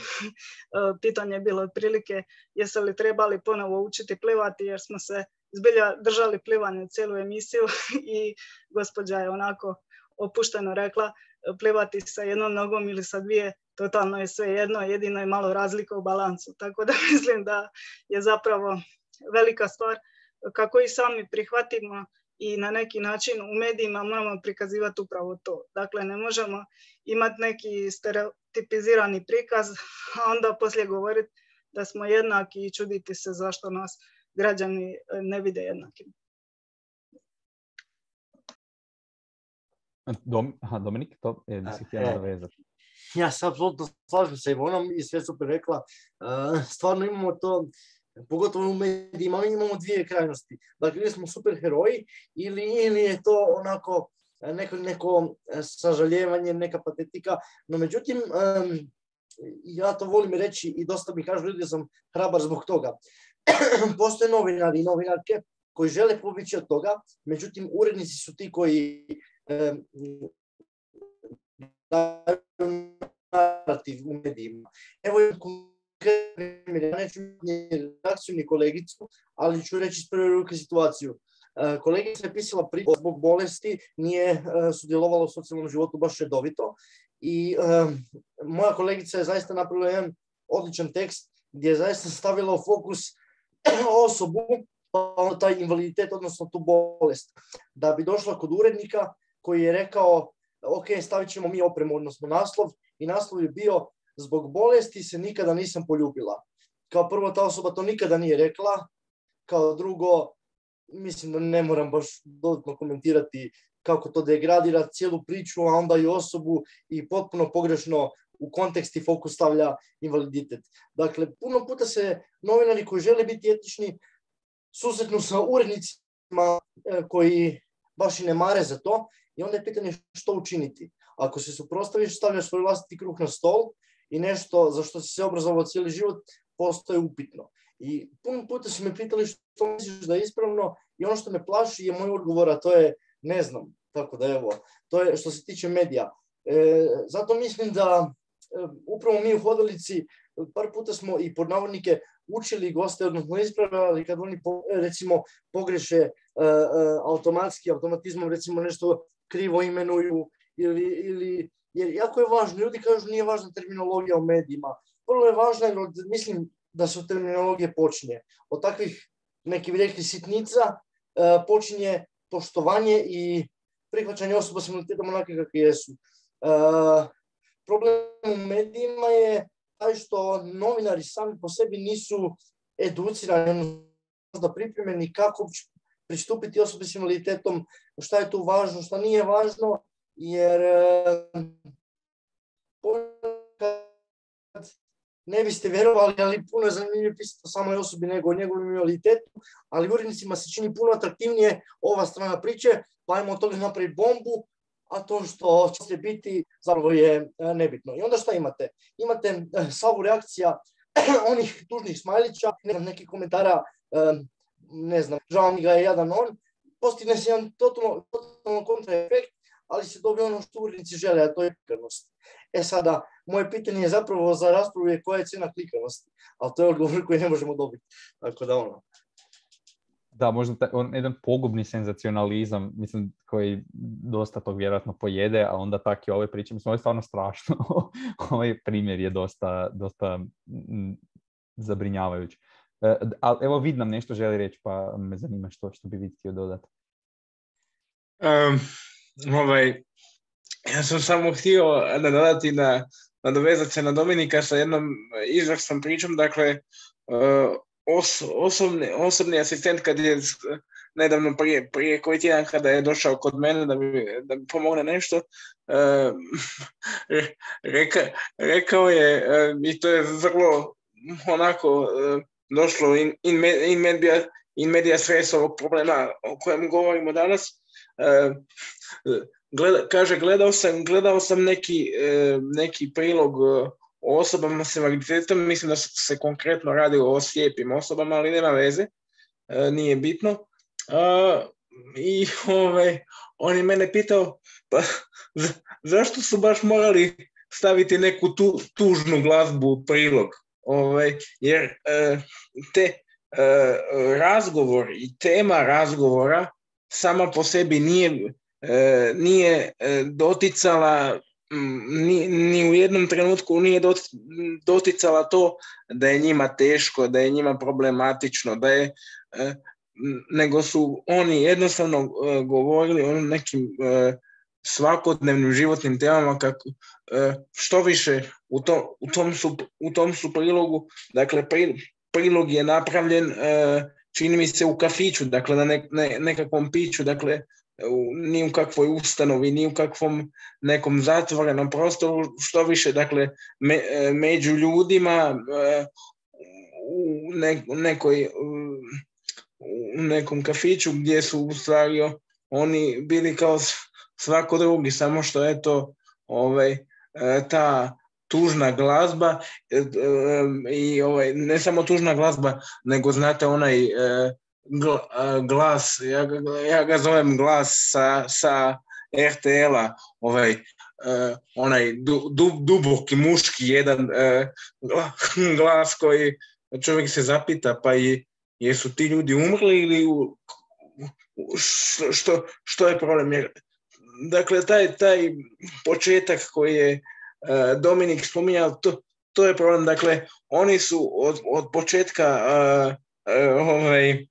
Pitanje je bilo otprilike jesu li trebali ponovo učiti plivati, jer smo se zbilja držali plivanja cijelu emisiju i gospođa je onako opušteno rekla plivati sa jednom nogom ili sa dvije, totalno je sve jedno, jedino je malo razlika u balansu. Tako da mislim da je zapravo velika stvar kako i sami prihvatimo i na neki način u medijima moramo prikazivati upravo to. Dakle, ne možemo imati neki stereotipizirani prikaz, a onda poslije govoriti da smo jednaki i čuditi se zašto nas građani ne vide jednakim. Dom, aha, Dominik, to je da si htjela nadovezati. Ja se apsolutno slažem sa Ivonom i sve super rekla. Uh, stvarno imamo to, pogotovo u medijima, imamo dvije krajnosti. Dakle, ili smo superheroji ili, ili je to onako neko, neko sažaljevanje, neka patetika. No međutim, um, ja to volim reći i dosta mi kažu ljudi da sam hrabar zbog toga. Postoje novinari i novinarke koji žele pobjeći od toga, međutim urednici su ti koji um, daju narativ u medijima. Evo je primjer, ja neću ni reakciju ni kolegicu, ali ću reći iz prve ruke situaciju. Kolegica je pisala priču zbog bolesti, nije sudjelovala u socijalnom životu baš redovito i um, moja kolegica je zaista napravila jedan odličan tekst gdje je zaista stavila u fokus osobu, pa taj invaliditet, odnosno tu bolest. Da bi došla kod urednika koji je rekao ok, stavit ćemo mi opremu, odnosno naslov, i naslov je bio zbog bolesti se nikada nisam poljubila. Kao prvo, ta osoba to nikada nije rekla, kao drugo, mislim da ne moram baš dodatno komentirati kako to degradira cijelu priču, a onda i osobu i potpuno pogrešno u kontekst i fokus stavlja invaliditet. Dakle, puno puta se novinari koji žele biti etični susretnu sa urednicima koji baš i ne mare za to i onda je pitanje što učiniti. Ako se suprotstaviš, stavljaš svoj vlastiti kruh na stol i nešto za što si se obrazovao cijeli život postoje upitno. I puno puta su me pitali što misliš da je ispravno i ono što me plaši je moj odgovor, a to je ne znam. Tako da evo, to je što se tiče medija. E, zato mislim da e, upravo mi u hodalici par puta smo i pod navodnike učili goste, odnosno ispravljali kad oni po, recimo pogreše e, e, automatski, automatizmom recimo nešto krivo imenuju ili, ili jer jako je važno, ljudi kažu nije važna terminologija u medijima, vrlo je važno jer mislim da se od terminologije počinje. Od takvih neki bi rekli sitnica e, počinje poštovanje i prihvaćanje osoba s invaliditetom onake kakve jesu. E, problem u medijima je taj što novinari sami po sebi nisu educirani, možda pripremljeni kako pristupiti osobi s invaliditetom, šta je tu važno, šta nije važno, jer ne biste vjerovali, ali puno je zanimljivije pisati o samoj osobi nego o njegovom invaliditetu, ali urednicima se čini puno atraktivnije ova strana priče, pa ajmo od toga napraviti bombu, a to što će biti zapravo je nebitno. I onda šta imate? Imate salvu reakcija onih tužnih smajlića, ne znam, nekih komentara, ne znam, žao mi ga je jadan on, postigne se jedan totalno, totalno kontraefekt, ali se dobije ono što urednici žele, a to je klikanost. E sada, moje pitanje je zapravo za raspravu je koja je cijena klikanosti, ali to je odgovor koji ne možemo dobiti. Tako da ono. Da, možda taj, on, jedan pogubni senzacionalizam, mislim, koji dosta tog vjerojatno pojede, a onda tak i ove priče, mislim, ovo je stvarno strašno. Ovaj primjer je dosta, dosta m, zabrinjavajući. E, ali evo vid nam nešto želi reći, pa me zanima što, što bi vi htio dodati. Um, ovaj, ja sam samo htio nadodati na, nadovezati se na Dominika sa jednom izvrsnom pričom, dakle, uh, Os, osobni, osobni asistent kad je nedavno prije, prije koji tjedan kada je došao kod mene da mi, da mi pomogne nešto, uh, reka, rekao je, uh, i to je vrlo onako uh, došlo in, in, in, media, in media stres ovog problema o kojem govorimo danas. Uh, gleda, kaže, gledao sam, gledao sam neki, uh, neki prilog uh, o osobama s invaliditetom, mislim da se konkretno radi o slijepim osobama, ali nema veze, e, nije bitno. E, I ovaj, on je mene pitao, pa za, zašto su baš morali staviti neku tu, tužnu glazbu u prilog? Ovaj, jer e, te e, razgovor i tema razgovora sama po sebi nije, e, nije e, doticala Ni, ni u jednom trenutku nije doticala to da je njima teško, da je njima problematično, da je, nego su oni jednostavno govorili o nekim svakodnevnim životnim temama, kako, što više u, to, u, tom su, u tom su prilogu, dakle prilog je napravljen, čini mi se, u kafiću, dakle na ne, ne, nekakvom piću, dakle ni u kakvoj ustanovi, ni u kakvom nekom zatvorenom prostoru, što više, dakle, me, među ljudima u ne, nekoj, u nekom kafiću gdje su u stvari oni bili kao svako drugi, samo što je to ovaj, ta tužna glazba i ovaj, ne samo tužna glazba, nego znate onaj glas, ja ga, ja ga zovem glas sa, sa er te el-a, ovaj, uh, onaj du, du, duboki muški jedan uh, glas koji čovjek se zapita, pa i jesu ti ljudi umrli ili u, što, što je problem? Jer, dakle, taj, taj početak koji je uh, Dominik spominjao, to, to je problem. Dakle, oni su od, od početka uh, uh, ovaj,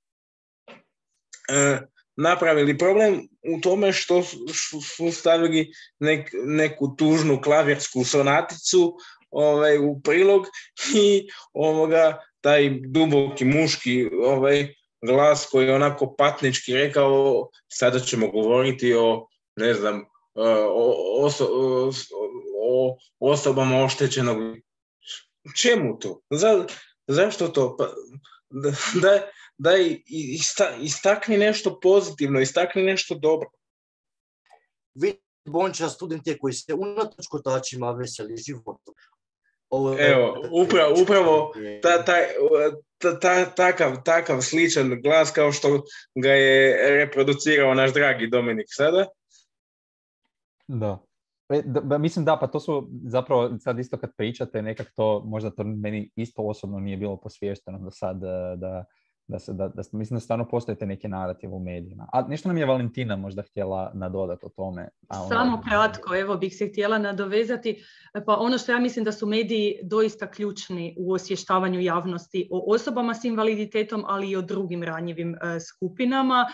Uh, napravili problem u tome što su stavili nek, neku tužnu klavirsku sonaticu ovaj, u prilog i ovoga, taj duboki muški ovaj, glas koji je onako patnički rekao sada ćemo govoriti o, ne znam, o, oso, o, o osobama oštećenog. Čemu to? Za, zašto to? Pa, da, da daj istakni nešto pozitivno, istakni nešto dobro. Vi, Bonča, student je koji se unatoč kotačima veseli životom. Ovo, Evo, upravo, upravo ta, ta, ta, ta, takav, takav sličan glas kao što ga je reproducirao naš dragi Dominik sada. Da. E, da, mislim da, pa to su zapravo sad isto kad pričate, nekak to, možda to meni isto osobno nije bilo posviješteno do sad, da, da, se, da, da mislim da stvarno postoje te neke narative u medijima. A nešto nam je Valentina možda htjela nadodati o tome. A ona... Samo kratko, evo bih se htjela nadovezati. Pa ono što ja mislim da su mediji doista ključni u osvještavanju javnosti o osobama s invaliditetom, ali i o drugim ranjivim e, skupinama.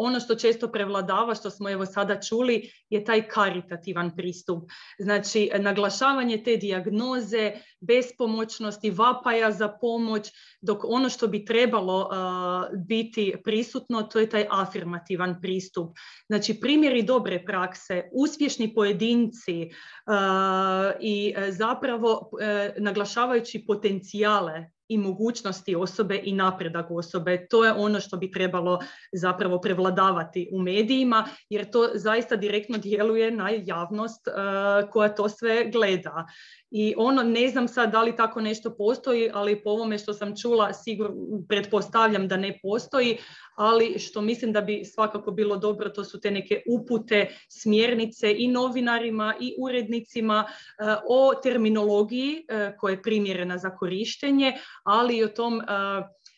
Ono što često prevladava, što smo evo sada čuli, je taj karitativan pristup. Znači, naglašavanje te dijagnoze, bespomoćnosti, vapaja za pomoć, dok ono što bi trebalo uh, biti prisutno, to je taj afirmativan pristup. Znači, primjeri dobre prakse, uspješni pojedinci uh, i zapravo uh, naglašavajući potencijale i mogućnosti osobe i napredak osobe. To je ono što bi trebalo zapravo prevladavati u medijima, jer to zaista direktno djeluje na javnost uh, koja to sve gleda. I ono, ne znam sad da li tako nešto postoji, ali po ovome što sam čula, sigurno pretpostavljam da ne postoji, ali što mislim da bi svakako bilo dobro, to su te neke upute, smjernice i novinarima i urednicima uh, o terminologiji uh, koja je primjerena za korištenje, ali i o tom uh,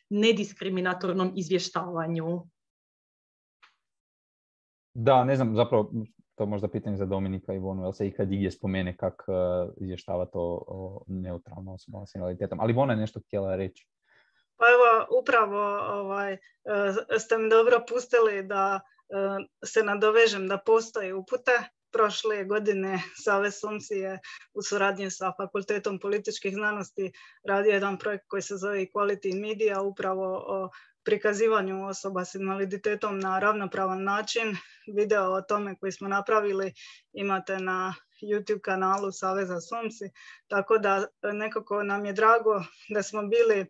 nediskriminatornom izvještavanju. Da, ne znam, zapravo to možda pitanje za Dominika i Ivonu, jel se ikad igdje spomene kak uh, izvještava to o neutralno osobama s invaliditetom, ali Ivona je nešto htjela reći. Pa evo, upravo ovaj, ste mi dobro pustili da se nadovežem da postoje upute. Prošle godine Savez SOMSI je u suradnji sa Fakultetom političkih znanosti radio jedan projekt koji se zove Equality Media, upravo o prikazivanju osoba s invaliditetom na ravnopravan način. Video o tome koji smo napravili imate na YouTube kanalu Saveza SOMSI, tako da nekako nam je drago da smo bili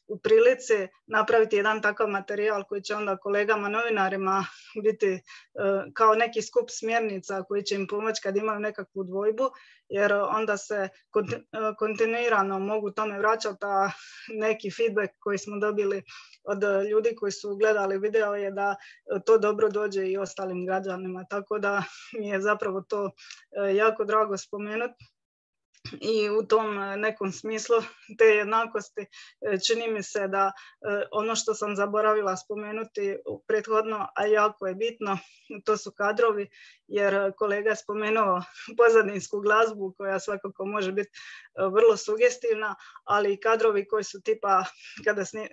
u prilici napraviti jedan takav materijal koji će onda kolegama novinarima biti uh, kao neki skup smjernica koji će im pomoći kad imaju nekakvu dvojbu, jer onda se konti, uh, kontinuirano mogu tome vraćati, a neki feedback koji smo dobili od ljudi koji su gledali video je da to dobro dođe i ostalim građanima, tako da mi je zapravo to uh, jako drago spomenuti. I u tom nekom smislu te jednakosti čini mi se da ono što sam zaboravila spomenuti prethodno, a jako je bitno, to su kadrovi, jer kolega je spomenuo pozadinsku glazbu koja svakako može biti vrlo sugestivna, ali i kadrovi koji su tipa kada sni,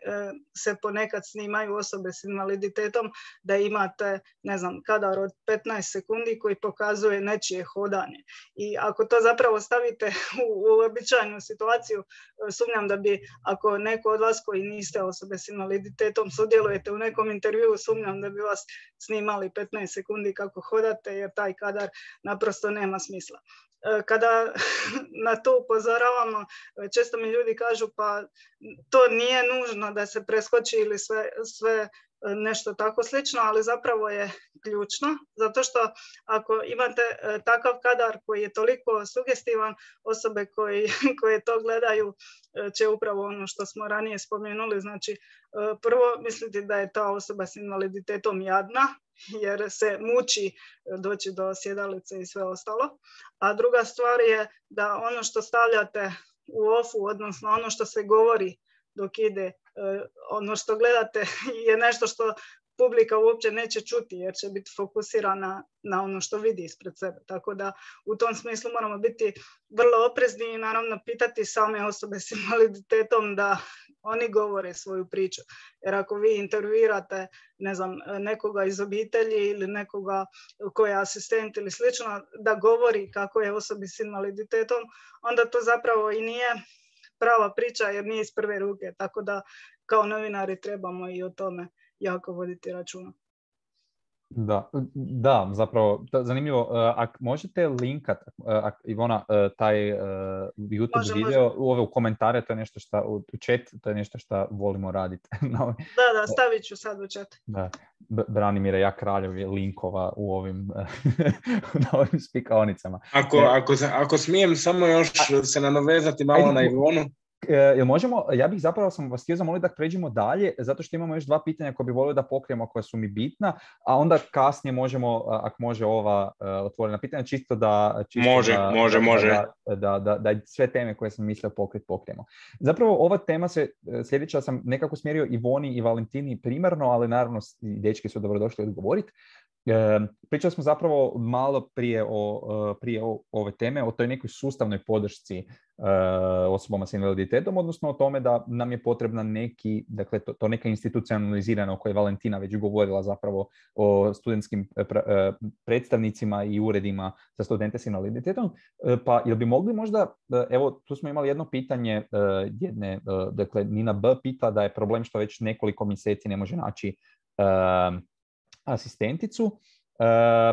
se ponekad snimaju osobe s invaliditetom, da imate, ne znam, kadar od petnaest sekundi koji pokazuje nečije hodanje. I ako to zapravo stavite u uobičajenu situaciju, sumnjam da bi, ako neko od vas koji niste osobe s invaliditetom sudjelujete u nekom intervjuu, sumnjam da bi vas snimali petnaest sekundi kako hodate, jer taj kadar naprosto nema smisla. Kada na to upozoravamo, često mi ljudi kažu pa to nije nužno da se preskoči ili sve, sve nešto tako slično, ali zapravo je ključno, zato što ako imate takav kadar koji je toliko sugestivan, osobe koji, koje to gledaju će upravo ono što smo ranije spomenuli, znači prvo misliti da je ta osoba s invaliditetom jadna, jer se muči doći do sjedalice i sve ostalo, a druga stvar je da ono što stavljate u ofu, odnosno ono što se govori dok ide, ono što gledate je nešto što publika uopće neće čuti, jer će biti fokusirana na ono što vidi ispred sebe. Tako da u tom smislu moramo biti vrlo oprezni i naravno pitati same osobe s invaliditetom da oni govore svoju priču. Jer ako vi intervjuirate, ne znam, nekoga iz obitelji ili nekoga koji je asistent ili slično, da govori kako je osobi s invaliditetom, onda to zapravo i nije prava priča jer nije iz prve ruke. Tako da kao novinari trebamo i o tome jako voditi računa. Da, da, zapravo, zanimljivo. Ako možete linkat, ak, Ivona, taj uh, YouTube može, video može. U ove u komentare, to je nešto što, u chat, to je nešto što volimo raditi. No, da, da, stavit ću sad u chat. Da, Branimire, ja kraljev je linkova u ovim, na ovim spikaonicama. Ako, ako, ako smijem samo još se nadovezati malo ajde, na Ivonu. jel možemo, ja bih zapravo sam vas htio zamoliti da pređemo dalje, zato što imamo još dva pitanja koje bi volio da pokrijemo, koja su mi bitna, a onda kasnije možemo, ako može ova otvorena pitanja, čisto da... Čisto može, da, može, da, može. Da, da, da, da sve teme koje sam mislio pokriti pokrijemo. Zapravo ova tema se, sljedeća sam nekako smjerio Ivoni i Valentini primarno, ali naravno i dečki su dobrodošli odgovoriti. E, pričali smo zapravo malo prije o, prije o, ove teme, o toj nekoj sustavnoj podršci e, osobama s invaliditetom, odnosno o tome da nam je potrebna neki, dakle to, to neka institucionalizirana o kojoj je Valentina već govorila zapravo o studentskim pra, predstavnicima i uredima za studente s invaliditetom. E, pa jel bi mogli možda, evo tu smo imali jedno pitanje jedne, dakle Nina B. pita da je problem što već nekoliko mjeseci ne može naći e, asistenticu. Uh,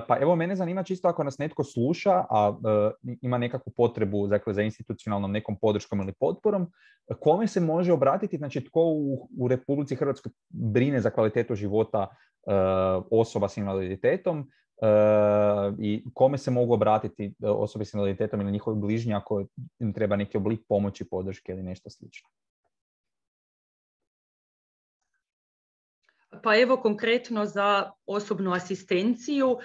pa evo mene zanima čisto ako nas netko sluša, a uh, ima nekakvu potrebu dakle, za institucionalnom nekom podrškom ili potporom, kome se može obratiti, znači tko u, u Republici Hrvatskoj brine za kvalitetu života uh, osoba s invaliditetom uh, i kome se mogu obratiti osobe s invaliditetom ili njihovi bližnji ako im treba neki oblik pomoći, podrške ili nešto slično. Pa evo konkretno za osobnu asistenciju,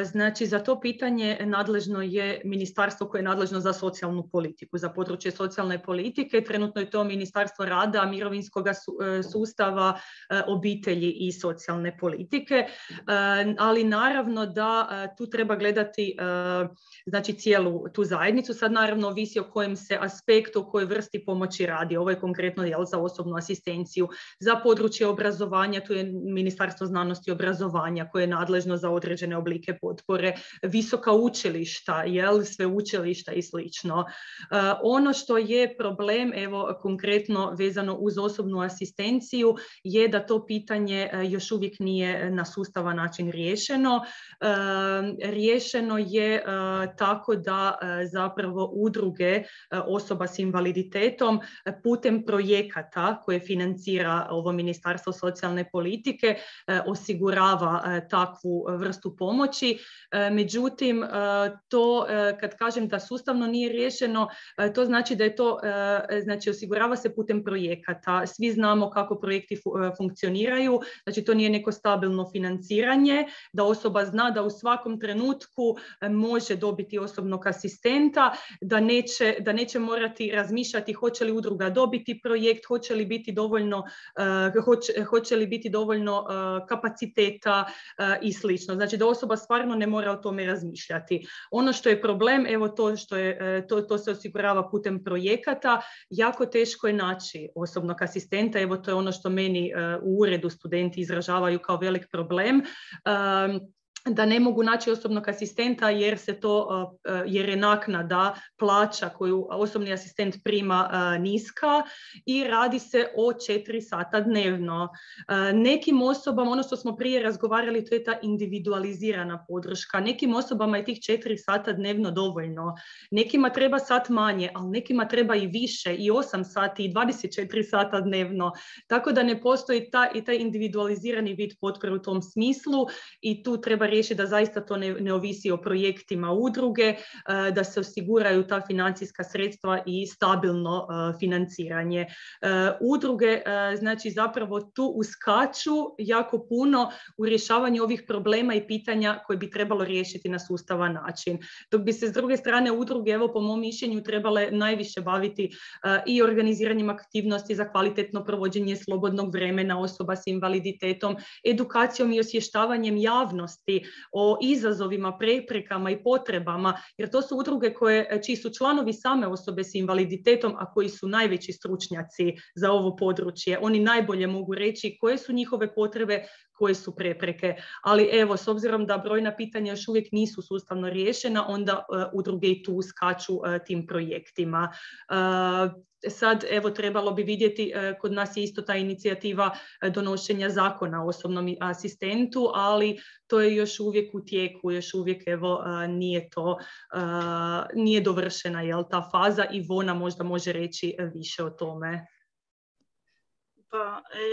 znači za to pitanje nadležno je ministarstvo koje je nadležno za socijalnu politiku, za područje socijalne politike. Trenutno je to Ministarstvo rada, mirovinskog sustava, obitelji i socijalne politike, ali naravno da tu treba gledati znači cijelu tu zajednicu. Sad naravno ovisi o kojem se aspektu, o kojoj vrsti pomoći radi. Ovo je konkretno jel, za osobnu asistenciju, za područje obrazovanja, tu je Ministarstvo znanosti i obrazovanja koje je nadležno za određene oblike potpore, visoka učilišta, jel, sveučilišta i slično. Uh, ono što je problem, evo konkretno vezano uz osobnu asistenciju, je da to pitanje uh, još uvijek nije na sustavan način riješeno. Uh, riješeno je uh, tako da uh, zapravo udruge uh, osoba s invaliditetom uh, putem projekata koje financira ovo Ministarstvo socijalne politike osigurava takvu vrstu pomoći. Međutim, to kad kažem da sustavno nije riješeno, to znači da je to, znači osigurava se putem projekata. Svi znamo kako projekti funkcioniraju, znači to nije neko stabilno financiranje, da osoba zna da u svakom trenutku može dobiti osobnog asistenta, da neće, da neće morati razmišljati hoće li udruga dobiti projekt, hoće li biti dovoljno, hoće, hoće li biti dovoljno uh, kapaciteta uh, i slično. Znači da osoba stvarno ne mora o tome razmišljati. Ono što je problem, evo to što je, to, to se osigurava putem projekata, jako teško je naći osobnog asistenta, evo to je ono što meni uh, u uredu studenti izražavaju kao velik problem. Um, da ne mogu naći osobnog asistenta jer se to, jer je naknada plaća koju osobni asistent prima niska i radi se o četiri sata dnevno. Nekim osobama, ono što smo prije razgovarali, to je ta individualizirana podrška. Nekim osobama je tih četiri sata dnevno dovoljno. Nekima treba sat manje, ali nekima treba i više, i osam sati, i dvadeset četiri sata dnevno. Tako da ne postoji ta, i taj individualizirani vid potpore u tom smislu i tu treba riješiti da zaista to ne, ne ovisi o projektima udruge, da se osiguraju ta financijska sredstva i stabilno financiranje. Udruge znači zapravo tu uskaču jako puno u rješavanju ovih problema i pitanja koje bi trebalo riješiti na sustavan način. Dok bi se s druge strane udruge, evo po mom mišljenju, trebale najviše baviti i organiziranjem aktivnosti za kvalitetno provođenje slobodnog vremena osoba s invaliditetom, edukacijom i osvještavanjem javnosti o izazovima, preprekama i potrebama, jer to su udruge koje, čiji su članovi same osobe s invaliditetom, a koji su najveći stručnjaci za ovo područje. Oni najbolje mogu reći koje su njihove potrebe, koje su prepreke. Ali evo, s obzirom da brojna pitanja još uvijek nisu sustavno riješena, onda uh, udruge i tu skaču uh, tim projektima. Uh, Sad, evo, trebalo bi vidjeti, kod nas je isto ta inicijativa donošenja zakona o osobnom asistentu, ali to je još uvijek u tijeku, još uvijek, evo, nije to, nije dovršena, jel, ta faza i Ivona možda može reći više o tome. Pa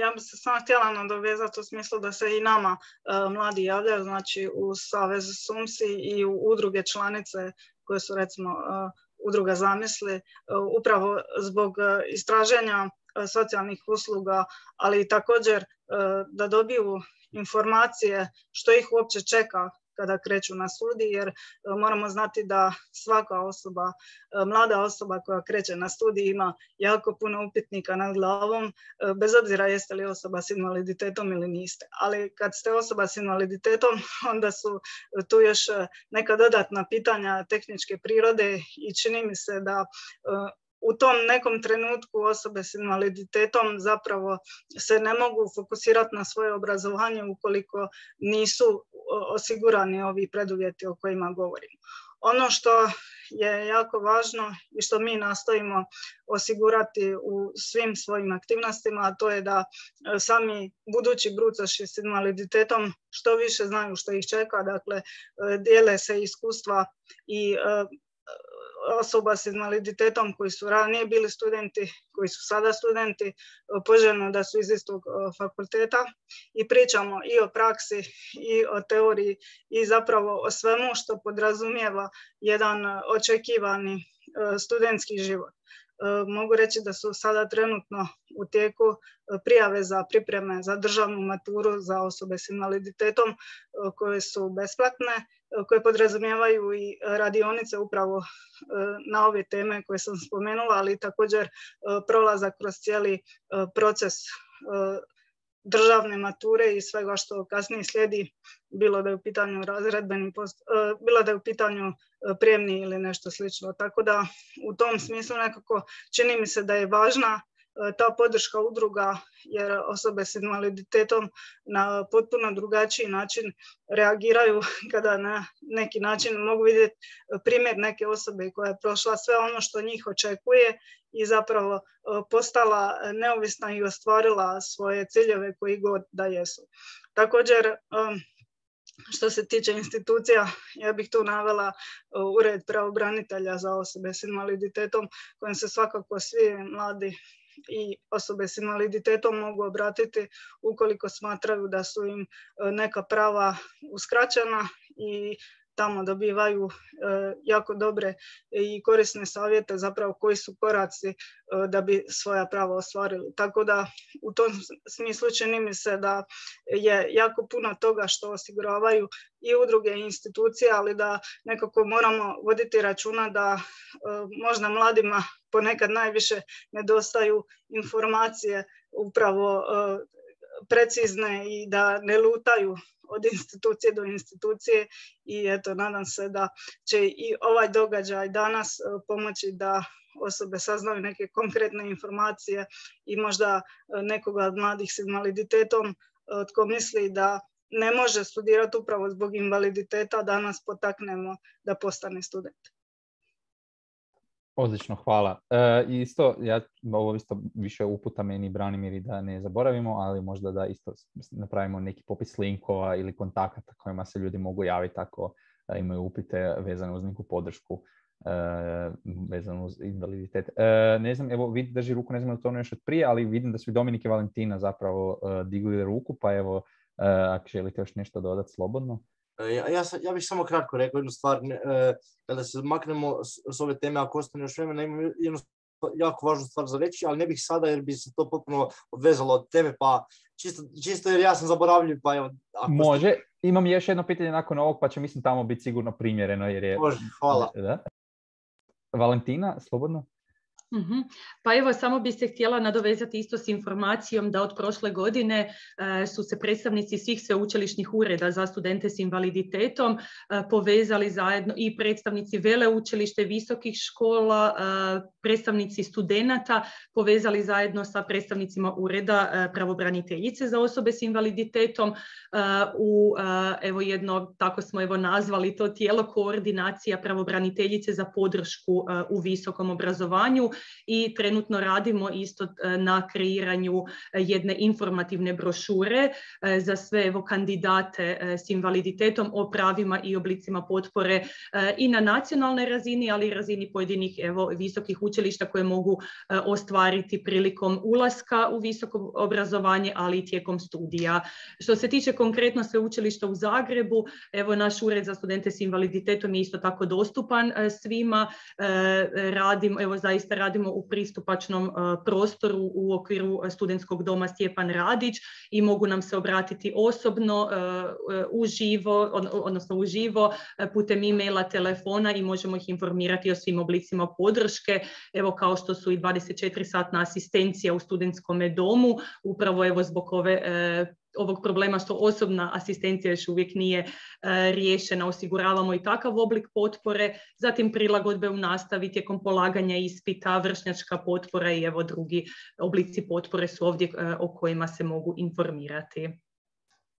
ja bih se samo htjela nadovezati u smislu da se i nama uh, mladi javljaju, znači u Savez SUMSI i u udruge članice koje su recimo uh, udruga Zamisli, upravo zbog istraženja socijalnih usluga, ali i također da dobiju informacije što ih uopće čeka kada kreću na studij, jer moramo znati da svaka osoba, mlada osoba koja kreće na studij ima jako puno upitnika nad glavom, bez obzira jeste li osoba s invaliditetom ili niste. Ali kad ste osoba s invaliditetom, onda su tu još neka dodatna pitanja tehničke prirode i čini mi se da u tom nekom trenutku osobe s invaliditetom zapravo se ne mogu fokusirati na svoje obrazovanje ukoliko nisu osigurani ovi preduvjeti o kojima govorimo. Ono što je jako važno i što mi nastojimo osigurati u svim svojim aktivnostima, a to je da sami budući brucoši s invaliditetom što više znaju što ih čeka, dakle dijele se iskustva i osoba s invaliditetom koji su ranije bili studenti, koji su sada studenti, poželjno da su iz istog fakulteta i pričamo i o praksi i o teoriji i zapravo o svemu što podrazumijeva jedan očekivani studentski život. Mogu reći da su sada trenutno u tijeku prijave za pripreme za državnu maturu za osobe s invaliditetom koje su besplatne, koje podrazumijevaju i radionice upravo na ove teme koje sam spomenula, ali također prolazak kroz cijeli proces državne mature i svega što kasnije slijedi, bilo da je u pitanju razredbeni post, bilo da je u pitanju prijemni ili nešto slično. Tako da u tom smislu nekako čini mi se da je važna ta podrška udruga, jer osobe s invaliditetom na potpuno drugačiji način reagiraju kada na neki način mogu vidjeti primjer neke osobe koja je prošla sve ono što njih očekuje i zapravo postala neovisna i ostvarila svoje ciljeve koji god da jesu. Također, što se tiče institucija, ja bih tu navela Ured pravobranitelja za osobe s invaliditetom, kojem se svakako svi mladi i osobe s invaliditetom mogu obratiti ukoliko smatraju da su im neka prava uskraćena i tamo dobivaju jako dobre i korisne savjete zapravo koji su koraci da bi svoja prava ostvarili. Tako da u tom smislu čini mi se da je jako puno toga što osiguravaju i udruge i institucije, ali da nekako moramo voditi računa da možda mladima ponekad najviše nedostaju informacije upravo precizne i da ne lutaju od institucije do institucije i eto, nadam se da će i ovaj događaj danas pomoći da osobe saznaju neke konkretne informacije i možda nekoga od mladih s invaliditetom tko misli da ne može studirati upravo zbog invaliditeta, danas potaknemo da postane student. Odlično, hvala. E, isto, ja, ovo isto više uputa meni Branimir i da ne zaboravimo, ali možda da isto napravimo neki popis linkova ili kontakata kojima se ljudi mogu javiti ako imaju upite vezane uz neku podršku e, vezano uz invaliditet. E, ne znam, evo, vidi drži ruku, ne znam da to ono još od prije, ali vidim da su i Dominik i Valentina zapravo e, digli ruku, pa evo, e, ako želite još nešto dodati, slobodno. Ja, ja, ja bih samo kratko rekao jednu stvar, kada se maknemo s, s ove teme, ako ostane još vremena, imam jednu jako važnu stvar za reći, ali ne bih sada jer bi se to potpuno odvezalo od teme, pa čisto, čisto jer ja sam zaboravljiv, pa evo... Ako Može, ste... imam još jedno pitanje nakon ovog, pa će mislim tamo biti sigurno primjereno, jer je... Može, hvala. Da? Valentina, slobodno? Uh-huh. Pa evo, samo bi se htjela nadovezati isto s informacijom da od prošle godine e, su se predstavnici svih sveučilišnih ureda za studente s invaliditetom e, povezali zajedno i predstavnici veleučilište, visokih škola, e, predstavnici studenata povezali zajedno sa predstavnicima ureda e, pravobraniteljice za osobe s invaliditetom e, u e, evo jedno, tako smo evo nazvali to tijelo, koordinacija pravobraniteljice za podršku e, u visokom obrazovanju. i trenutno radimo isto na kreiranju jedne informativne brošure za sve evo kandidate s invaliditetom o pravima i oblicima potpore i na nacionalnoj razini, ali i razini pojedinih evo visokih učilišta koje mogu ostvariti prilikom ulaska u visoko obrazovanje, ali i tijekom studija. Što se tiče konkretno sveučilišta u Zagrebu, evo naš ured za studente s invaliditetom je isto tako dostupan svima. Radimo, evo zaista radimo u pristupačnom prostoru u okviru studentskog doma Stjepan Radić i mogu nam se obratiti osobno, uživo, odnosno uživo putem e-maila, telefona i možemo ih informirati o svim oblicima podrške, evo kao što su i dvadeset četiri satna asistencija u studentskom domu, upravo evo zbog ove ovog problema što osobna asistencija još uvijek nije e, riješena, osiguravamo i takav oblik potpore, zatim prilagodbe u nastavi tijekom polaganja ispita, vršnjačka potpora i evo drugi oblici potpore su ovdje e, o kojima se mogu informirati.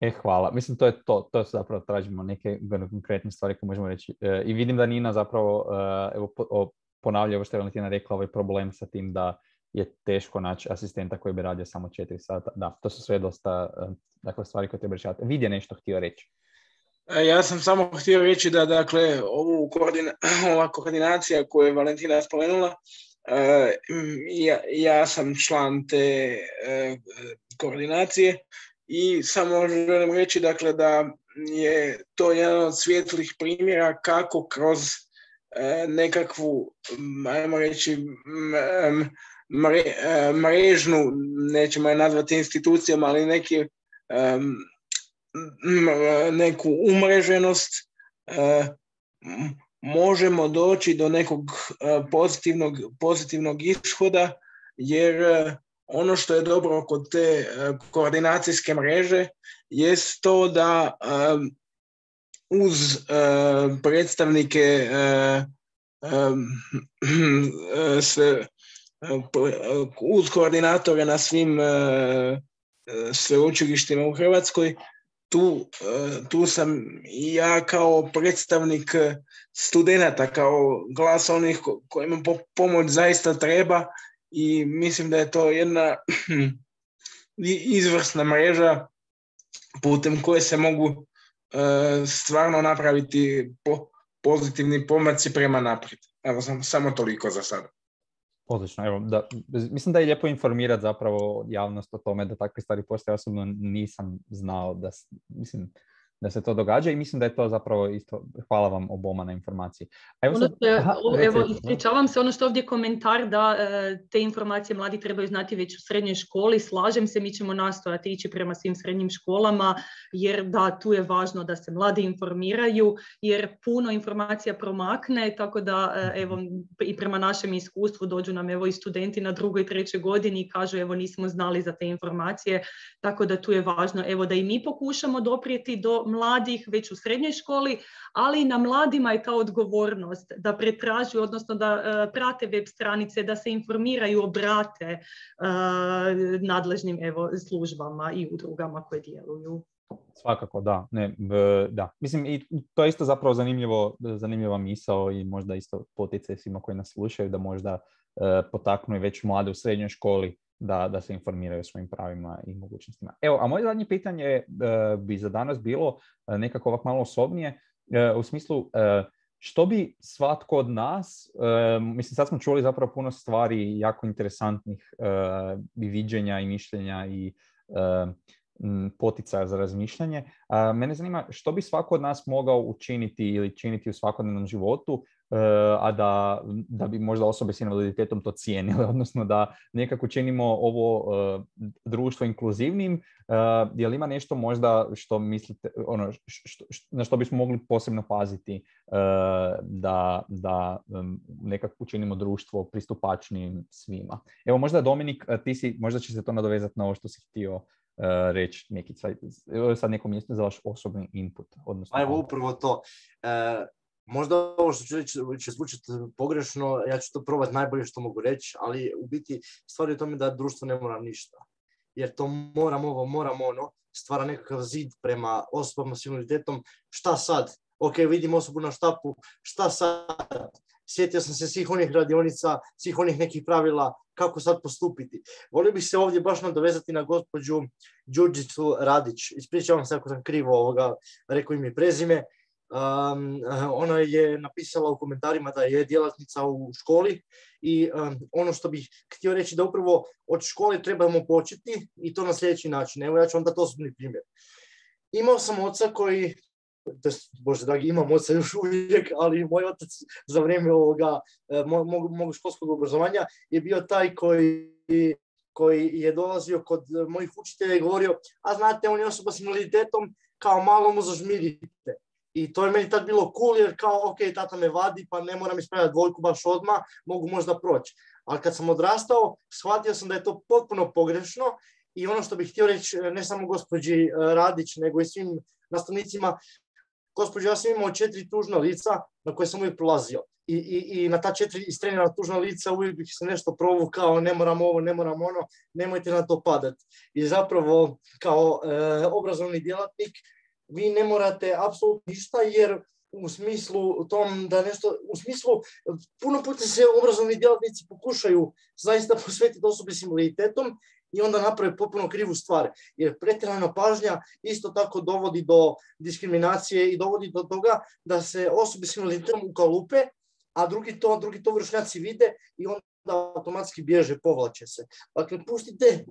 E, hvala. Mislim, to je to. To zapravo tražimo neke konkretne stvari koje možemo reći. E, I vidim da Nina zapravo e, evo, po, ponavlja ovo što je Valentina rekla, ovaj problem sa tim da je teško naći asistenta koji bi radio samo četiri sata. Da, to su sve dosta dakle, stvari koje treba rješavati. Vid je nešto htio reći. Ja sam samo htio reći da dakle, ovu koordina, ova koordinacija koju je Valentina spomenula, ja, ja sam član te koordinacije i samo želim reći dakle, da je to jedan od svijetlih primjera kako kroz nekakvu, ajmo reći, Mre, mrežnu, nećemo je nazvati institucijom, ali neki, um, neku umreženost uh, možemo doći do nekog uh, pozitivnog, pozitivnog ishoda, jer uh, ono što je dobro kod te uh, koordinacijske mreže jest to da um, uz uh, predstavnike uh, um, uh, sve uz koordinatore na svim uh, sveučilištima u Hrvatskoj, tu, uh, tu sam i ja kao predstavnik studenata, kao glas onih ko- kojima po- pomoć zaista treba i mislim da je to jedna izvrsna mreža putem koje se mogu uh, stvarno napraviti po- pozitivni pomaci prema naprijed. Evo sam, samo toliko za sada. Odlično, evo, da, mislim da je lijepo informirati zapravo javnost o tome da takve stvari postoje. Osobno nisam znao da, mislim, da se to događa i mislim da je to zapravo isto, hvala vam oboma na informaciji. A evo, sad, Ono je, aha, evo, reci, ispričavam se, ono što ovdje komentar da te informacije mladi trebaju znati već u srednjoj školi, slažem se, mi ćemo nastojati ići prema svim srednjim školama, jer da, tu je važno da se mladi informiraju, jer puno informacija promakne, tako da evo, i prema našem iskustvu dođu nam evo i studenti na drugoj i trećoj godini i kažu evo nismo znali za te informacije, tako da tu je važno evo da i mi pokušamo doprijeti do mladih već u srednjoj školi, ali i na mladima je ta odgovornost da pretražuju, odnosno da uh, prate web stranice, da se informiraju, obrate uh, nadležnim evo, službama i udrugama koje djeluju. Svakako, da. Ne, da. Mislim, i to je isto zapravo zanimljivo, zanimljiva misao i možda isto poticaj svima koji nas slušaju da možda uh, potaknu i već mlade u srednjoj školi da, da se informiraju o svojim pravima i mogućnostima. Evo, a moje zadnje pitanje uh, bi za danas bilo uh, nekako ovak malo osobnije, uh, u smislu uh, što bi svatko od nas, uh, mislim sad smo čuli zapravo puno stvari jako interesantnih uh, i viđenja i mišljenja i uh, poticaja za razmišljanje. Uh, mene zanima što bi svako od nas mogao učiniti ili činiti u svakodnevnom životu, uh, a da, da bi možda osobe s invaliditetom to cijenile, odnosno da nekako činimo ovo uh, društvo inkluzivnim. Uh, je li ima nešto možda što mislite, ono, što, što, na što bismo mogli posebno paziti uh, da, da um, nekako učinimo društvo pristupačnijim svima? Evo možda Dominik, ti si, možda će se to nadovezati na ovo što si htio Uh, reći neki sad neko mjesto za vaš osobni input. Odnosno, evo upravo to. E, možda ovo što ću reći će zvučiti pogrešno, ja ću to probati najbolje što mogu reći, ali u biti stvar je u tome da društvo ne mora ništa. Jer to moram ovo, moram ono, stvara nekakav zid prema osobama s invaliditetom. Šta sad? Ok, vidim osobu na štapu, šta sad? sjetio sam se svih onih radionica, svih onih nekih pravila kako sad postupiti. Volio bih se ovdje baš nadovezati na gospođu Đurđicu Radić. Ispričavam se ako sam krivo ovoga, rekao im je prezime. Um, ona je napisala u komentarima da je djelatnica u školi i um, ono što bih htio reći da upravo od škole trebamo početi i to na sljedeći način. Evo ja ću vam dati osobni primjer. Imao sam oca koji, bože dragi, imam oca još uvijek, ali moj otac za vrijeme ovoga mog, mog školskog obrazovanja je bio taj koji, koji je dolazio kod mojih učitelja i govorio, a znate, on je osoba s invaliditetom, kao malo mu zažmirite. I to je meni tad bilo cool jer kao, ok, tata me vadi, pa ne moram ispravljati dvojku baš odmah, mogu možda proći. Ali kad sam odrastao, shvatio sam da je to potpuno pogrešno i ono što bih htio reći, ne samo gospođi Radić, nego i svim nastavnicima, gospođo, ja sam imao četiri tužna lica na koje sam uvijek prolazio. I, i, i na ta četiri istrenirana tužna lica uvijek bih se nešto provukao, ne moram ovo, ne moram ono, nemojte na to padati. I zapravo, kao e, obrazovni djelatnik, vi ne morate apsolutno ništa, jer u smislu tom da nešto, u smislu puno puta se obrazovni djelatnici pokušaju zaista posvetiti osobi s invaliditetom i onda naprave potpuno krivu stvar. Jer pretjerana pažnja isto tako dovodi do diskriminacije i dovodi do toga da se osobe s invaliditetom ukalupe, a drugi to, drugi to vršnjaci vide i onda automatski bježe, povlače se. Dakle, pustite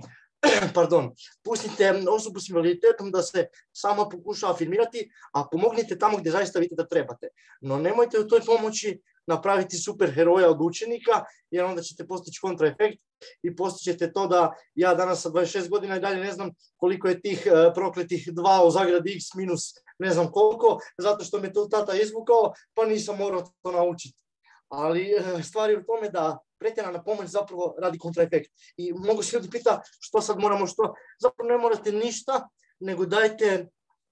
Pardon, pustite osobu s invaliditetom da se sama pokuša afirmirati, a pomognite tamo gdje zaista vidite da trebate. No nemojte u toj pomoći napraviti super heroja od učenika, jer onda ćete postići kontraefekt i postićete to da ja danas sa dvadeset šest godina i dalje ne znam koliko je tih uh, prokletih dva u zagradi x minus ne znam koliko, zato što me to tata izvukao, pa nisam morao to naučiti. Ali uh, stvar je u tome da pretjerana pomoć zapravo radi kontraefekt. I mnogo se ljudi pita što sad moramo, što, zapravo ne morate ništa, nego dajte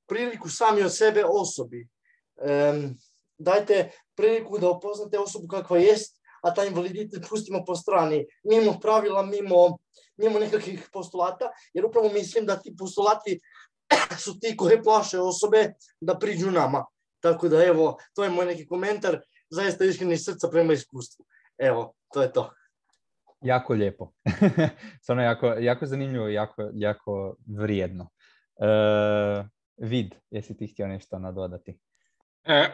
priliku sami od sebe osobi. Um, dajte priliku da upoznate osobu kakva jest, a taj invaliditet pustimo po strani, mimo pravila, mimo, mimo nekakvih postulata, jer upravo mislim da ti postulati su ti koje plaše osobe da priđu nama. Tako da evo, to je moj neki komentar, zaista iskreni srca prema iskustvu. Evo, to je to. Jako lijepo. Stvarno jako, jako zanimljivo i jako, jako vrijedno. Uh, Vid, jesi ti htio nešto nadodati? E,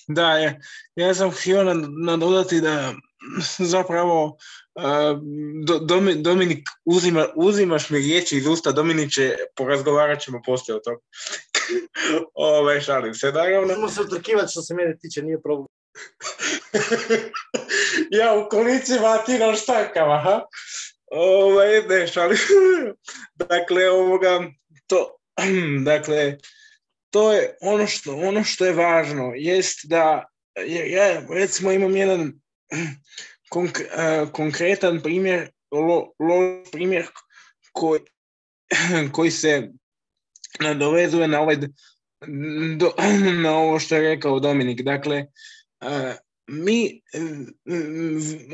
da, je. Ja sam htio nadodati da zapravo uh, do, Dominik, uzima, uzimaš mi riječi iz usta, Dominiče, porazgovarat ćemo poslije o toga. Ove, šalim se, naravno. Možemo se otrkivati što se mene tiče, nije problem. Ja u kolicima, ti na štakama, ha? Ove, ne, šalim. Dakle, ovoga, to, dakle, to je ono što, ono što je važno, jest da, ja recimo imam jedan konk, uh, konkretan primjer, lo, lo, primjer koji, koji se nadovezuje na, ovaj, do, na ovo što je rekao Dominik. Dakle, uh, mi,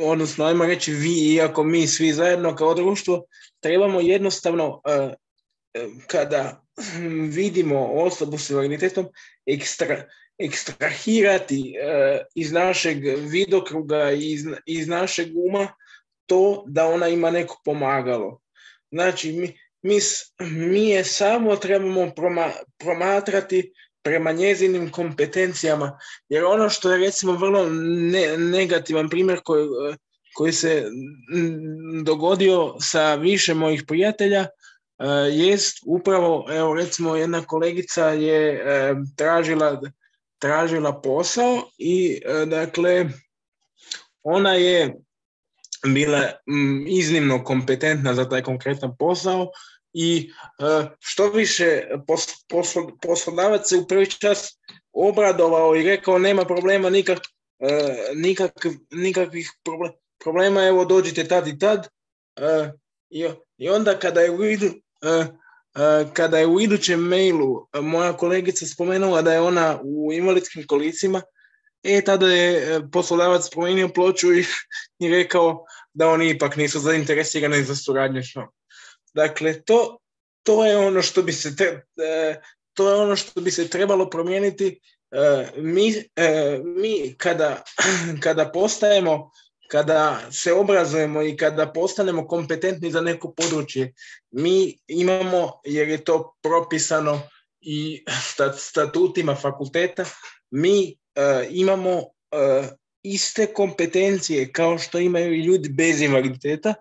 odnosno ajmo reći vi, iako mi svi zajedno kao društvo, trebamo jednostavno uh, kada vidimo osobu s invaliditetom ekstra, ekstrahirati uh, iz našeg vidokruga, iz, iz našeg uma to da ona ima neko pomagalo. Znači, mi, mi, mi je samo trebamo proma, promatrati prema njezinim kompetencijama, jer ono što je recimo vrlo ne, negativan primjer koji, koji se dogodio sa više mojih prijatelja, Uh, jest upravo, evo recimo jedna kolegica je uh, tražila, tražila posao i uh, dakle ona je bila m, iznimno kompetentna za taj konkretan posao i uh, što više pos, poslo, poslodavac se u prvi čas obradovao i rekao nema problema, nikak, uh, nikak, nikakvih problem, problema, evo dođite tad i tad uh, i, i onda kada je u vidu Uh, uh, kada je u idućem mailu uh, moja kolegica spomenula da je ona u invalidskim kolicima, e, tada je uh, poslodavac promijenio ploču i, i rekao da oni ipak nisu zainteresirani za suradnju s njom. Dakle, to, to je ono što bi se tre, uh, to je ono što bi se trebalo promijeniti mi, mi kada, kada postajemo, kada se obrazujemo i kada postanemo kompetentni za neko područje, mi imamo, jer je to propisano i statutima fakulteta, mi imamo iste kompetencije kao što imaju i ljudi bez invaliditeta,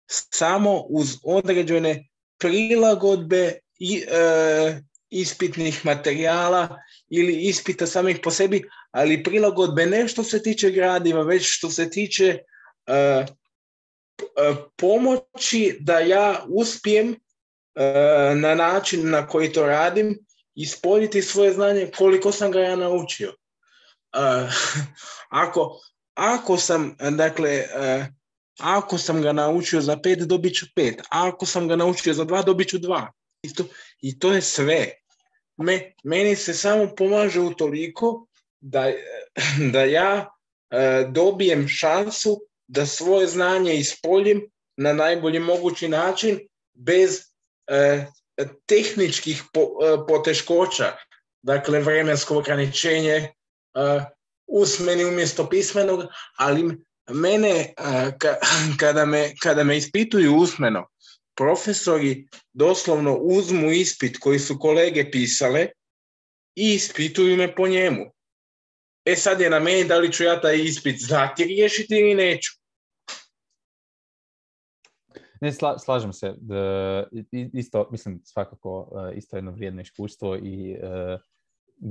samo uz određene prilagodbe i e, ispitnih materijala ili ispita samih po sebi, ali prilagodbe ne što se tiče gradiva, već što se tiče e, e, pomoći da ja uspijem e, na način na koji to radim ispoljiti svoje znanje koliko sam ga ja naučio. E, ako, ako sam, dakle, e, ako sam ga naučio za pet, dobit ću pet. A ako sam ga naučio za dva, dobit ću dva. I to, i to je sve. Me, meni se samo pomaže utoliko da, da ja e, dobijem šansu da svoje znanje ispoljim na najbolji mogući način bez e, tehničkih po, e, poteškoća. Dakle, vremensko ograničenje, e, usmeni umjesto pismenog, ali mene, ka, kada, me, kada me ispituju usmeno, profesori doslovno uzmu ispit koji su kolege pisale i ispituju me po njemu. E sad je na meni da li ću ja taj ispit znati riješiti ili neću. Ne, sla, slažem se. Da, isto, mislim, svakako isto jedno vrijedno iskustvo i uh,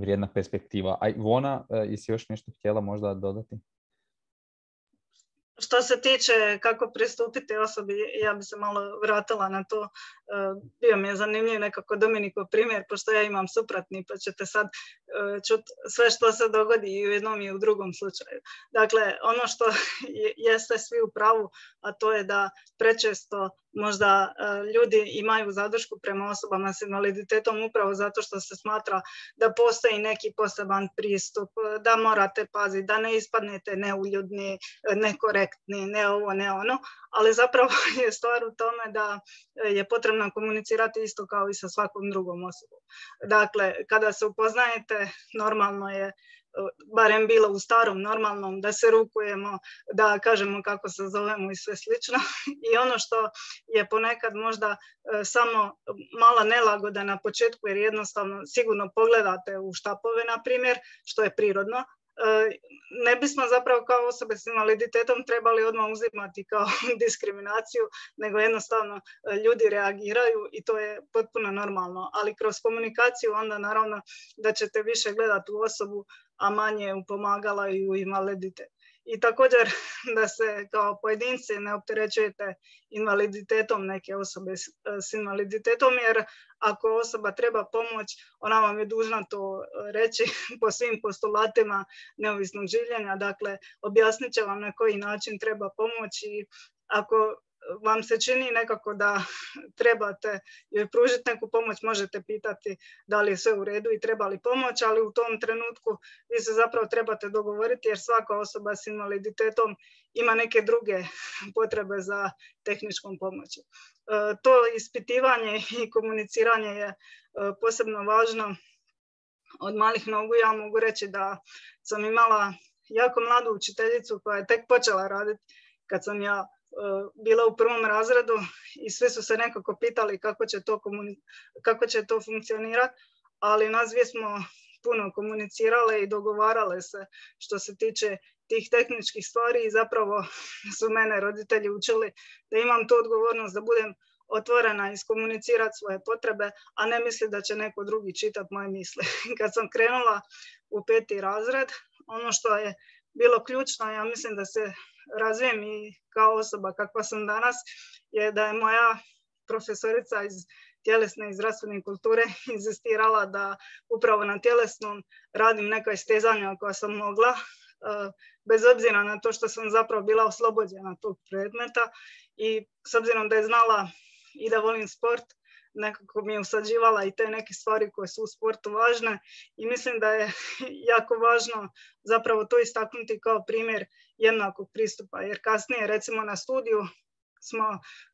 vrijedna perspektiva. A Ivona, uh, jesi još nešto htjela možda dodati? Što se tiče kako pristupiti osobi, ja bi se malo vratila na to. Bio mi je zanimljiv nekako Dominikov primjer, pošto ja imam suprotni, pa ćete sad čuti sve što se dogodi i u jednom i u drugom slučaju. Dakle, ono što jeste svi u pravu, a to je da prečesto možda ljudi imaju zadršku prema osobama s invaliditetom upravo zato što se smatra da postoji neki poseban pristup, da morate paziti, da ne ispadnete neuljudni, nekorektni, ne ovo, ne ono, ali zapravo je stvar u tome da je potrebno komunicirati isto kao i sa svakom drugom osobom. Dakle, kada se upoznajete, normalno je, barem bilo u starom normalnom, da se rukujemo, da kažemo kako se zovemo i sve slično. I ono što je ponekad možda samo mala nelagoda na početku, jer jednostavno sigurno pogledate u štapove, na primjer, što je prirodno, ne bismo zapravo kao osobe s invaliditetom trebali odmah uzimati kao diskriminaciju, nego jednostavno ljudi reagiraju i to je potpuno normalno. Ali kroz komunikaciju onda naravno da ćete više gledati u osobu, a manje u pomagala i u invaliditet. I također da se kao pojedinci ne opterećujete invaliditetom neke osobe s, s invaliditetom, jer ako osoba treba pomoć, ona vam je dužna to reći po svim postulatima neovisnog življenja. Dakle, objasnit će vam na koji način treba pomoći i ako vam se čini nekako da trebate joj pružiti neku pomoć, možete pitati da li je sve u redu i treba li pomoć, ali u tom trenutku vi se zapravo trebate dogovoriti jer svaka osoba s invaliditetom ima neke druge potrebe za tehničkom pomoći. E, to ispitivanje i komuniciranje je posebno važno od malih nogu. Ja mogu reći da sam imala jako mladu učiteljicu koja je tek počela raditi kad sam ja bila u prvom razredu i svi su se nekako pitali kako će to, komuni- kako će to funkcionirati, ali nas dvije smo puno komunicirale i dogovarale se što se tiče tih tehničkih stvari i zapravo su mene roditelji učili da imam tu odgovornost da budem otvorena i iskomunicirati svoje potrebe, a ne misli da će neko drugi čitati moje misli. Kad sam krenula u peti razred, ono što je bilo ključno, ja mislim da se razvijem i kao osoba kakva sam danas, je da je moja profesorica iz tjelesne i zdravstvene kulture inzistirala da upravo na tjelesnom radim neka istezanja koja sam mogla, bez obzira na to što sam zapravo bila oslobođena tog predmeta i s obzirom da je znala i da volim sport, nekako mi je usađivala i te neke stvari koje su u sportu važne i mislim da je jako važno zapravo to istaknuti kao primjer jednakog pristupa, jer kasnije recimo na studiju smo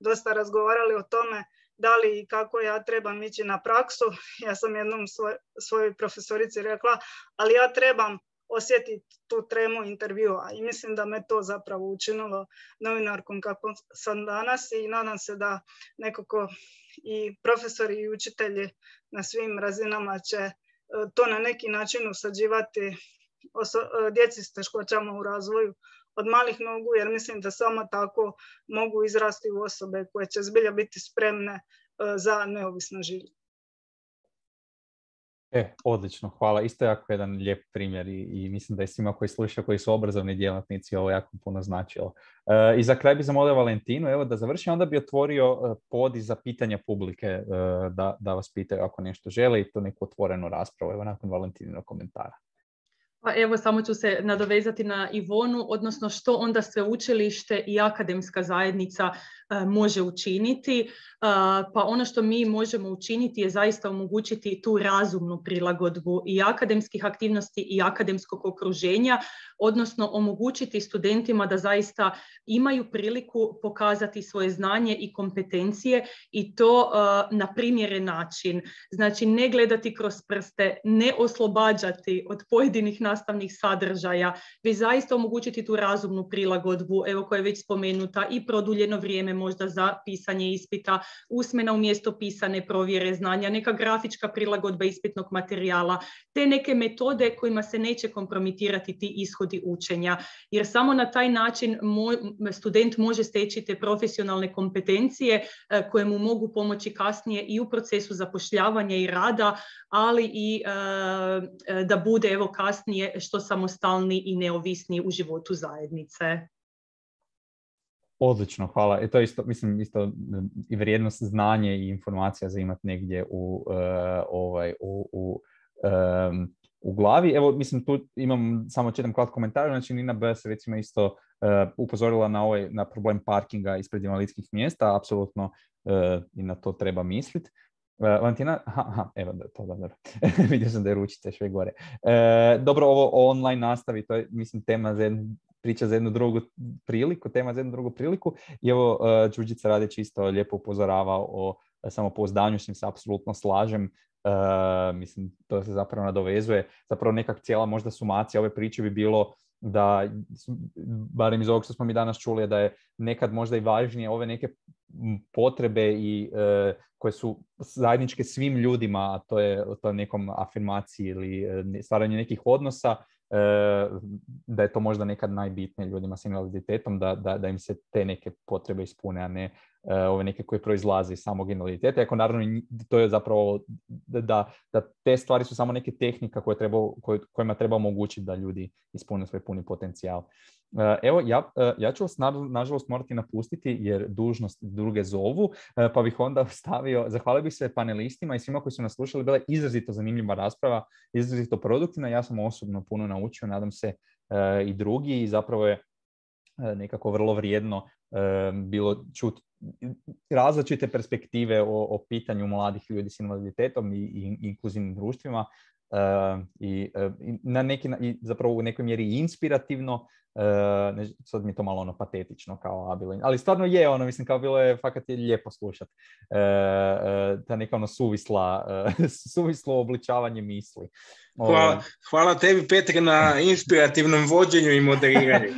dosta razgovarali o tome da li i kako ja trebam ići na praksu. Ja sam jednom svoj, svojoj profesorici rekla, ali ja trebam osjetiti tu tremu intervjua i mislim da me to zapravo učinilo novinarkom kako sam danas i nadam se da nekako i profesori i učitelji na svim razinama će to na neki način usađivati oso- djeci s teškoćama u razvoju od malih nogu, jer mislim da samo tako mogu izrasti u osobe koje će zbilja biti spremne za neovisno življenje. E, odlično, hvala. Isto jako jedan lijep primjer i, i mislim da je svima koji slušaju, koji su obrazovni djelatnici, ovo jako puno značilo. E, I za kraj bi zamolio Valentinu, evo da završim, onda bi otvorio pod za pitanja publike, e, da, da vas pitaju ako nešto žele i to neku otvorenu raspravu, evo nakon Valentinog komentara. Pa evo, samo ću se nadovezati na Ivonu, odnosno što onda sveučilište i akademska zajednica e, može učiniti. E, pa ono što mi možemo učiniti je zaista omogućiti tu razumnu prilagodbu i akademskih aktivnosti i akademskog okruženja, odnosno omogućiti studentima da zaista imaju priliku pokazati svoje znanje i kompetencije i to e, na primjeren način. Znači, ne gledati kroz prste, ne oslobađati od pojedinih nastavnih sadržaja, već zaista omogućiti tu razumnu prilagodbu, evo koja je već spomenuta, i produljeno vrijeme možda za pisanje ispita, usmena umjesto pisane provjere znanja, neka grafička prilagodba ispitnog materijala, te neke metode kojima se neće kompromitirati ti ishodi učenja, jer samo na taj način mo- student može steći te profesionalne kompetencije eh, koje mu mogu pomoći kasnije i u procesu zapošljavanja i rada, ali i eh, da bude evo kasnije što samostalni i neovisni u životu zajednice. Odlično, hvala. E to je isto, mislim, isto i vrijednost znanje i informacija za imati negdje u, uh, ovaj, u, u, um, u glavi. Evo, mislim, tu imam samo čitam kratko komentar, znači Nina B. se recimo isto uh, upozorila na, ovaj, na problem parkinga ispred invalidskih mjesta, apsolutno uh, i na to treba misliti. Uh, Valentina, aha, aha, evo da, to dobro. Vidio sam da je ručice sve gore. Uh, dobro, ovo o online nastavi, to je, mislim, tema za jednu, priča za jednu drugu priliku, tema za jednu drugu priliku. I evo, uh, Đurđica Radić isto lijepo upozorava o uh, samopouzdanju, s njim se apsolutno slažem. Uh, mislim, to se zapravo nadovezuje. Zapravo nekak cijela možda sumacija ove priče bi bilo da, barem iz ovog što smo mi danas čuli, da je nekad možda i važnije ove neke potrebe i e, koje su zajedničke svim ljudima, a to je to nekom afirmaciji ili e, stvaranju nekih odnosa, e, da je to možda nekad najbitnije ljudima s invaliditetom, da, da, da im se te neke potrebe ispune, a ne e, ove neke koje proizlaze iz samog invaliditeta. Ako naravno to je zapravo da, da te stvari su samo neke tehnika koje treba, koje, kojima treba omogućiti da ljudi ispune svoj puni potencijal. Evo, ja, ja ću vas nažalost morati napustiti jer dužnost druge zovu, pa bih onda stavio, zahvalio bih se panelistima i svima koji su nas slušali, bila je izrazito zanimljiva rasprava, izrazito produktivna, ja sam osobno puno naučio, nadam se i drugi, i zapravo je nekako vrlo vrijedno bilo čuti različite perspektive o, o pitanju mladih ljudi s invaliditetom i, i inkluzivnim društvima. Uh, i, uh, i na neki i zapravo u nekoj mjeri inspirativno, uh, ne, sad mi je to malo ono patetično kao abilo, ali stvarno je ono, mislim kao bilo je fakat je lijepo slušati uh, uh, ta neka ono suvisla uh, suvislo obličavanje misli. Hvala, uh, hvala tebi Petre na inspirativnom vođenju i moderiranju.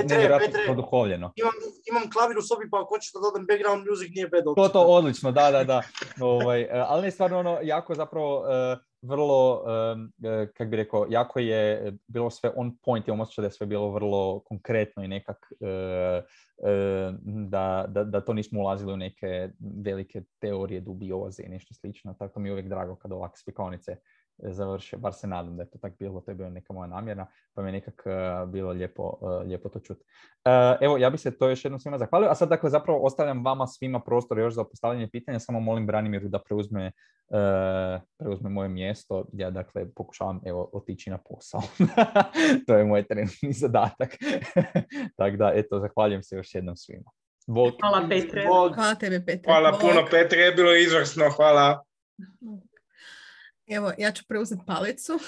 Nevjerojatno oduhovljeno. Imam, imam klavir u sobi, pa ako hoćeš da dodam background music, nije bad opcija. To to odlično, da, da, da. Ovaj, uh, ali je stvarno ono jako zapravo uh, vrlo, um, kak bi rekao, jako je bilo sve on point, imam osjećaj da je sve bilo vrlo konkretno i nekak uh, uh, da, da, da to nismo ulazili u neke velike teorije dubioze i nešto slično, tako mi je uvijek drago kad ovakve spikaonice završe, bar se nadam da je to tako bilo, to je bila neka moja namjera, pa mi je nekak uh, bilo lijepo, uh, lijepo to čuti. Uh, evo, ja bih se to još jednom svima zahvalio, a sad dakle zapravo ostavljam vama svima prostor još za postavljanje pitanja, samo molim Branimiru da preuzme, uh, preuzme moje mjesto, ja dakle pokušavam evo otići na posao. To je moj trenutni zadatak. Tako da, eto, zahvaljujem se još jednom svima. Bog. Hvala Petre. Hvala tebi Petre. Hvala Bog. puno Petre, je bilo izvrsno, hvala. Evo, ja ću preuzeti palicu.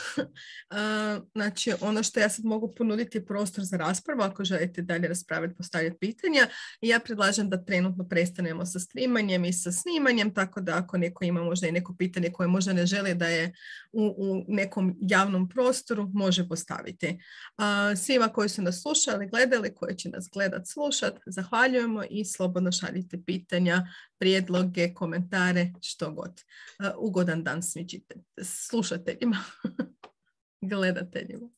Znači, ono što ja sad mogu ponuditi je prostor za raspravu, ako želite dalje raspraviti, postavljati pitanja. I ja predlažem da trenutno prestanemo sa streamanjem i sa snimanjem, tako da ako neko ima možda i neko pitanje koje možda ne želi da je u, u nekom javnom prostoru, može postaviti. Svima koji su nas slušali, gledali, koji će nas gledat, slušat, zahvaljujemo i slobodno šaljite pitanja, prijedloge, komentare, što god. Ugodan dan svim slušateljima, gledateljima.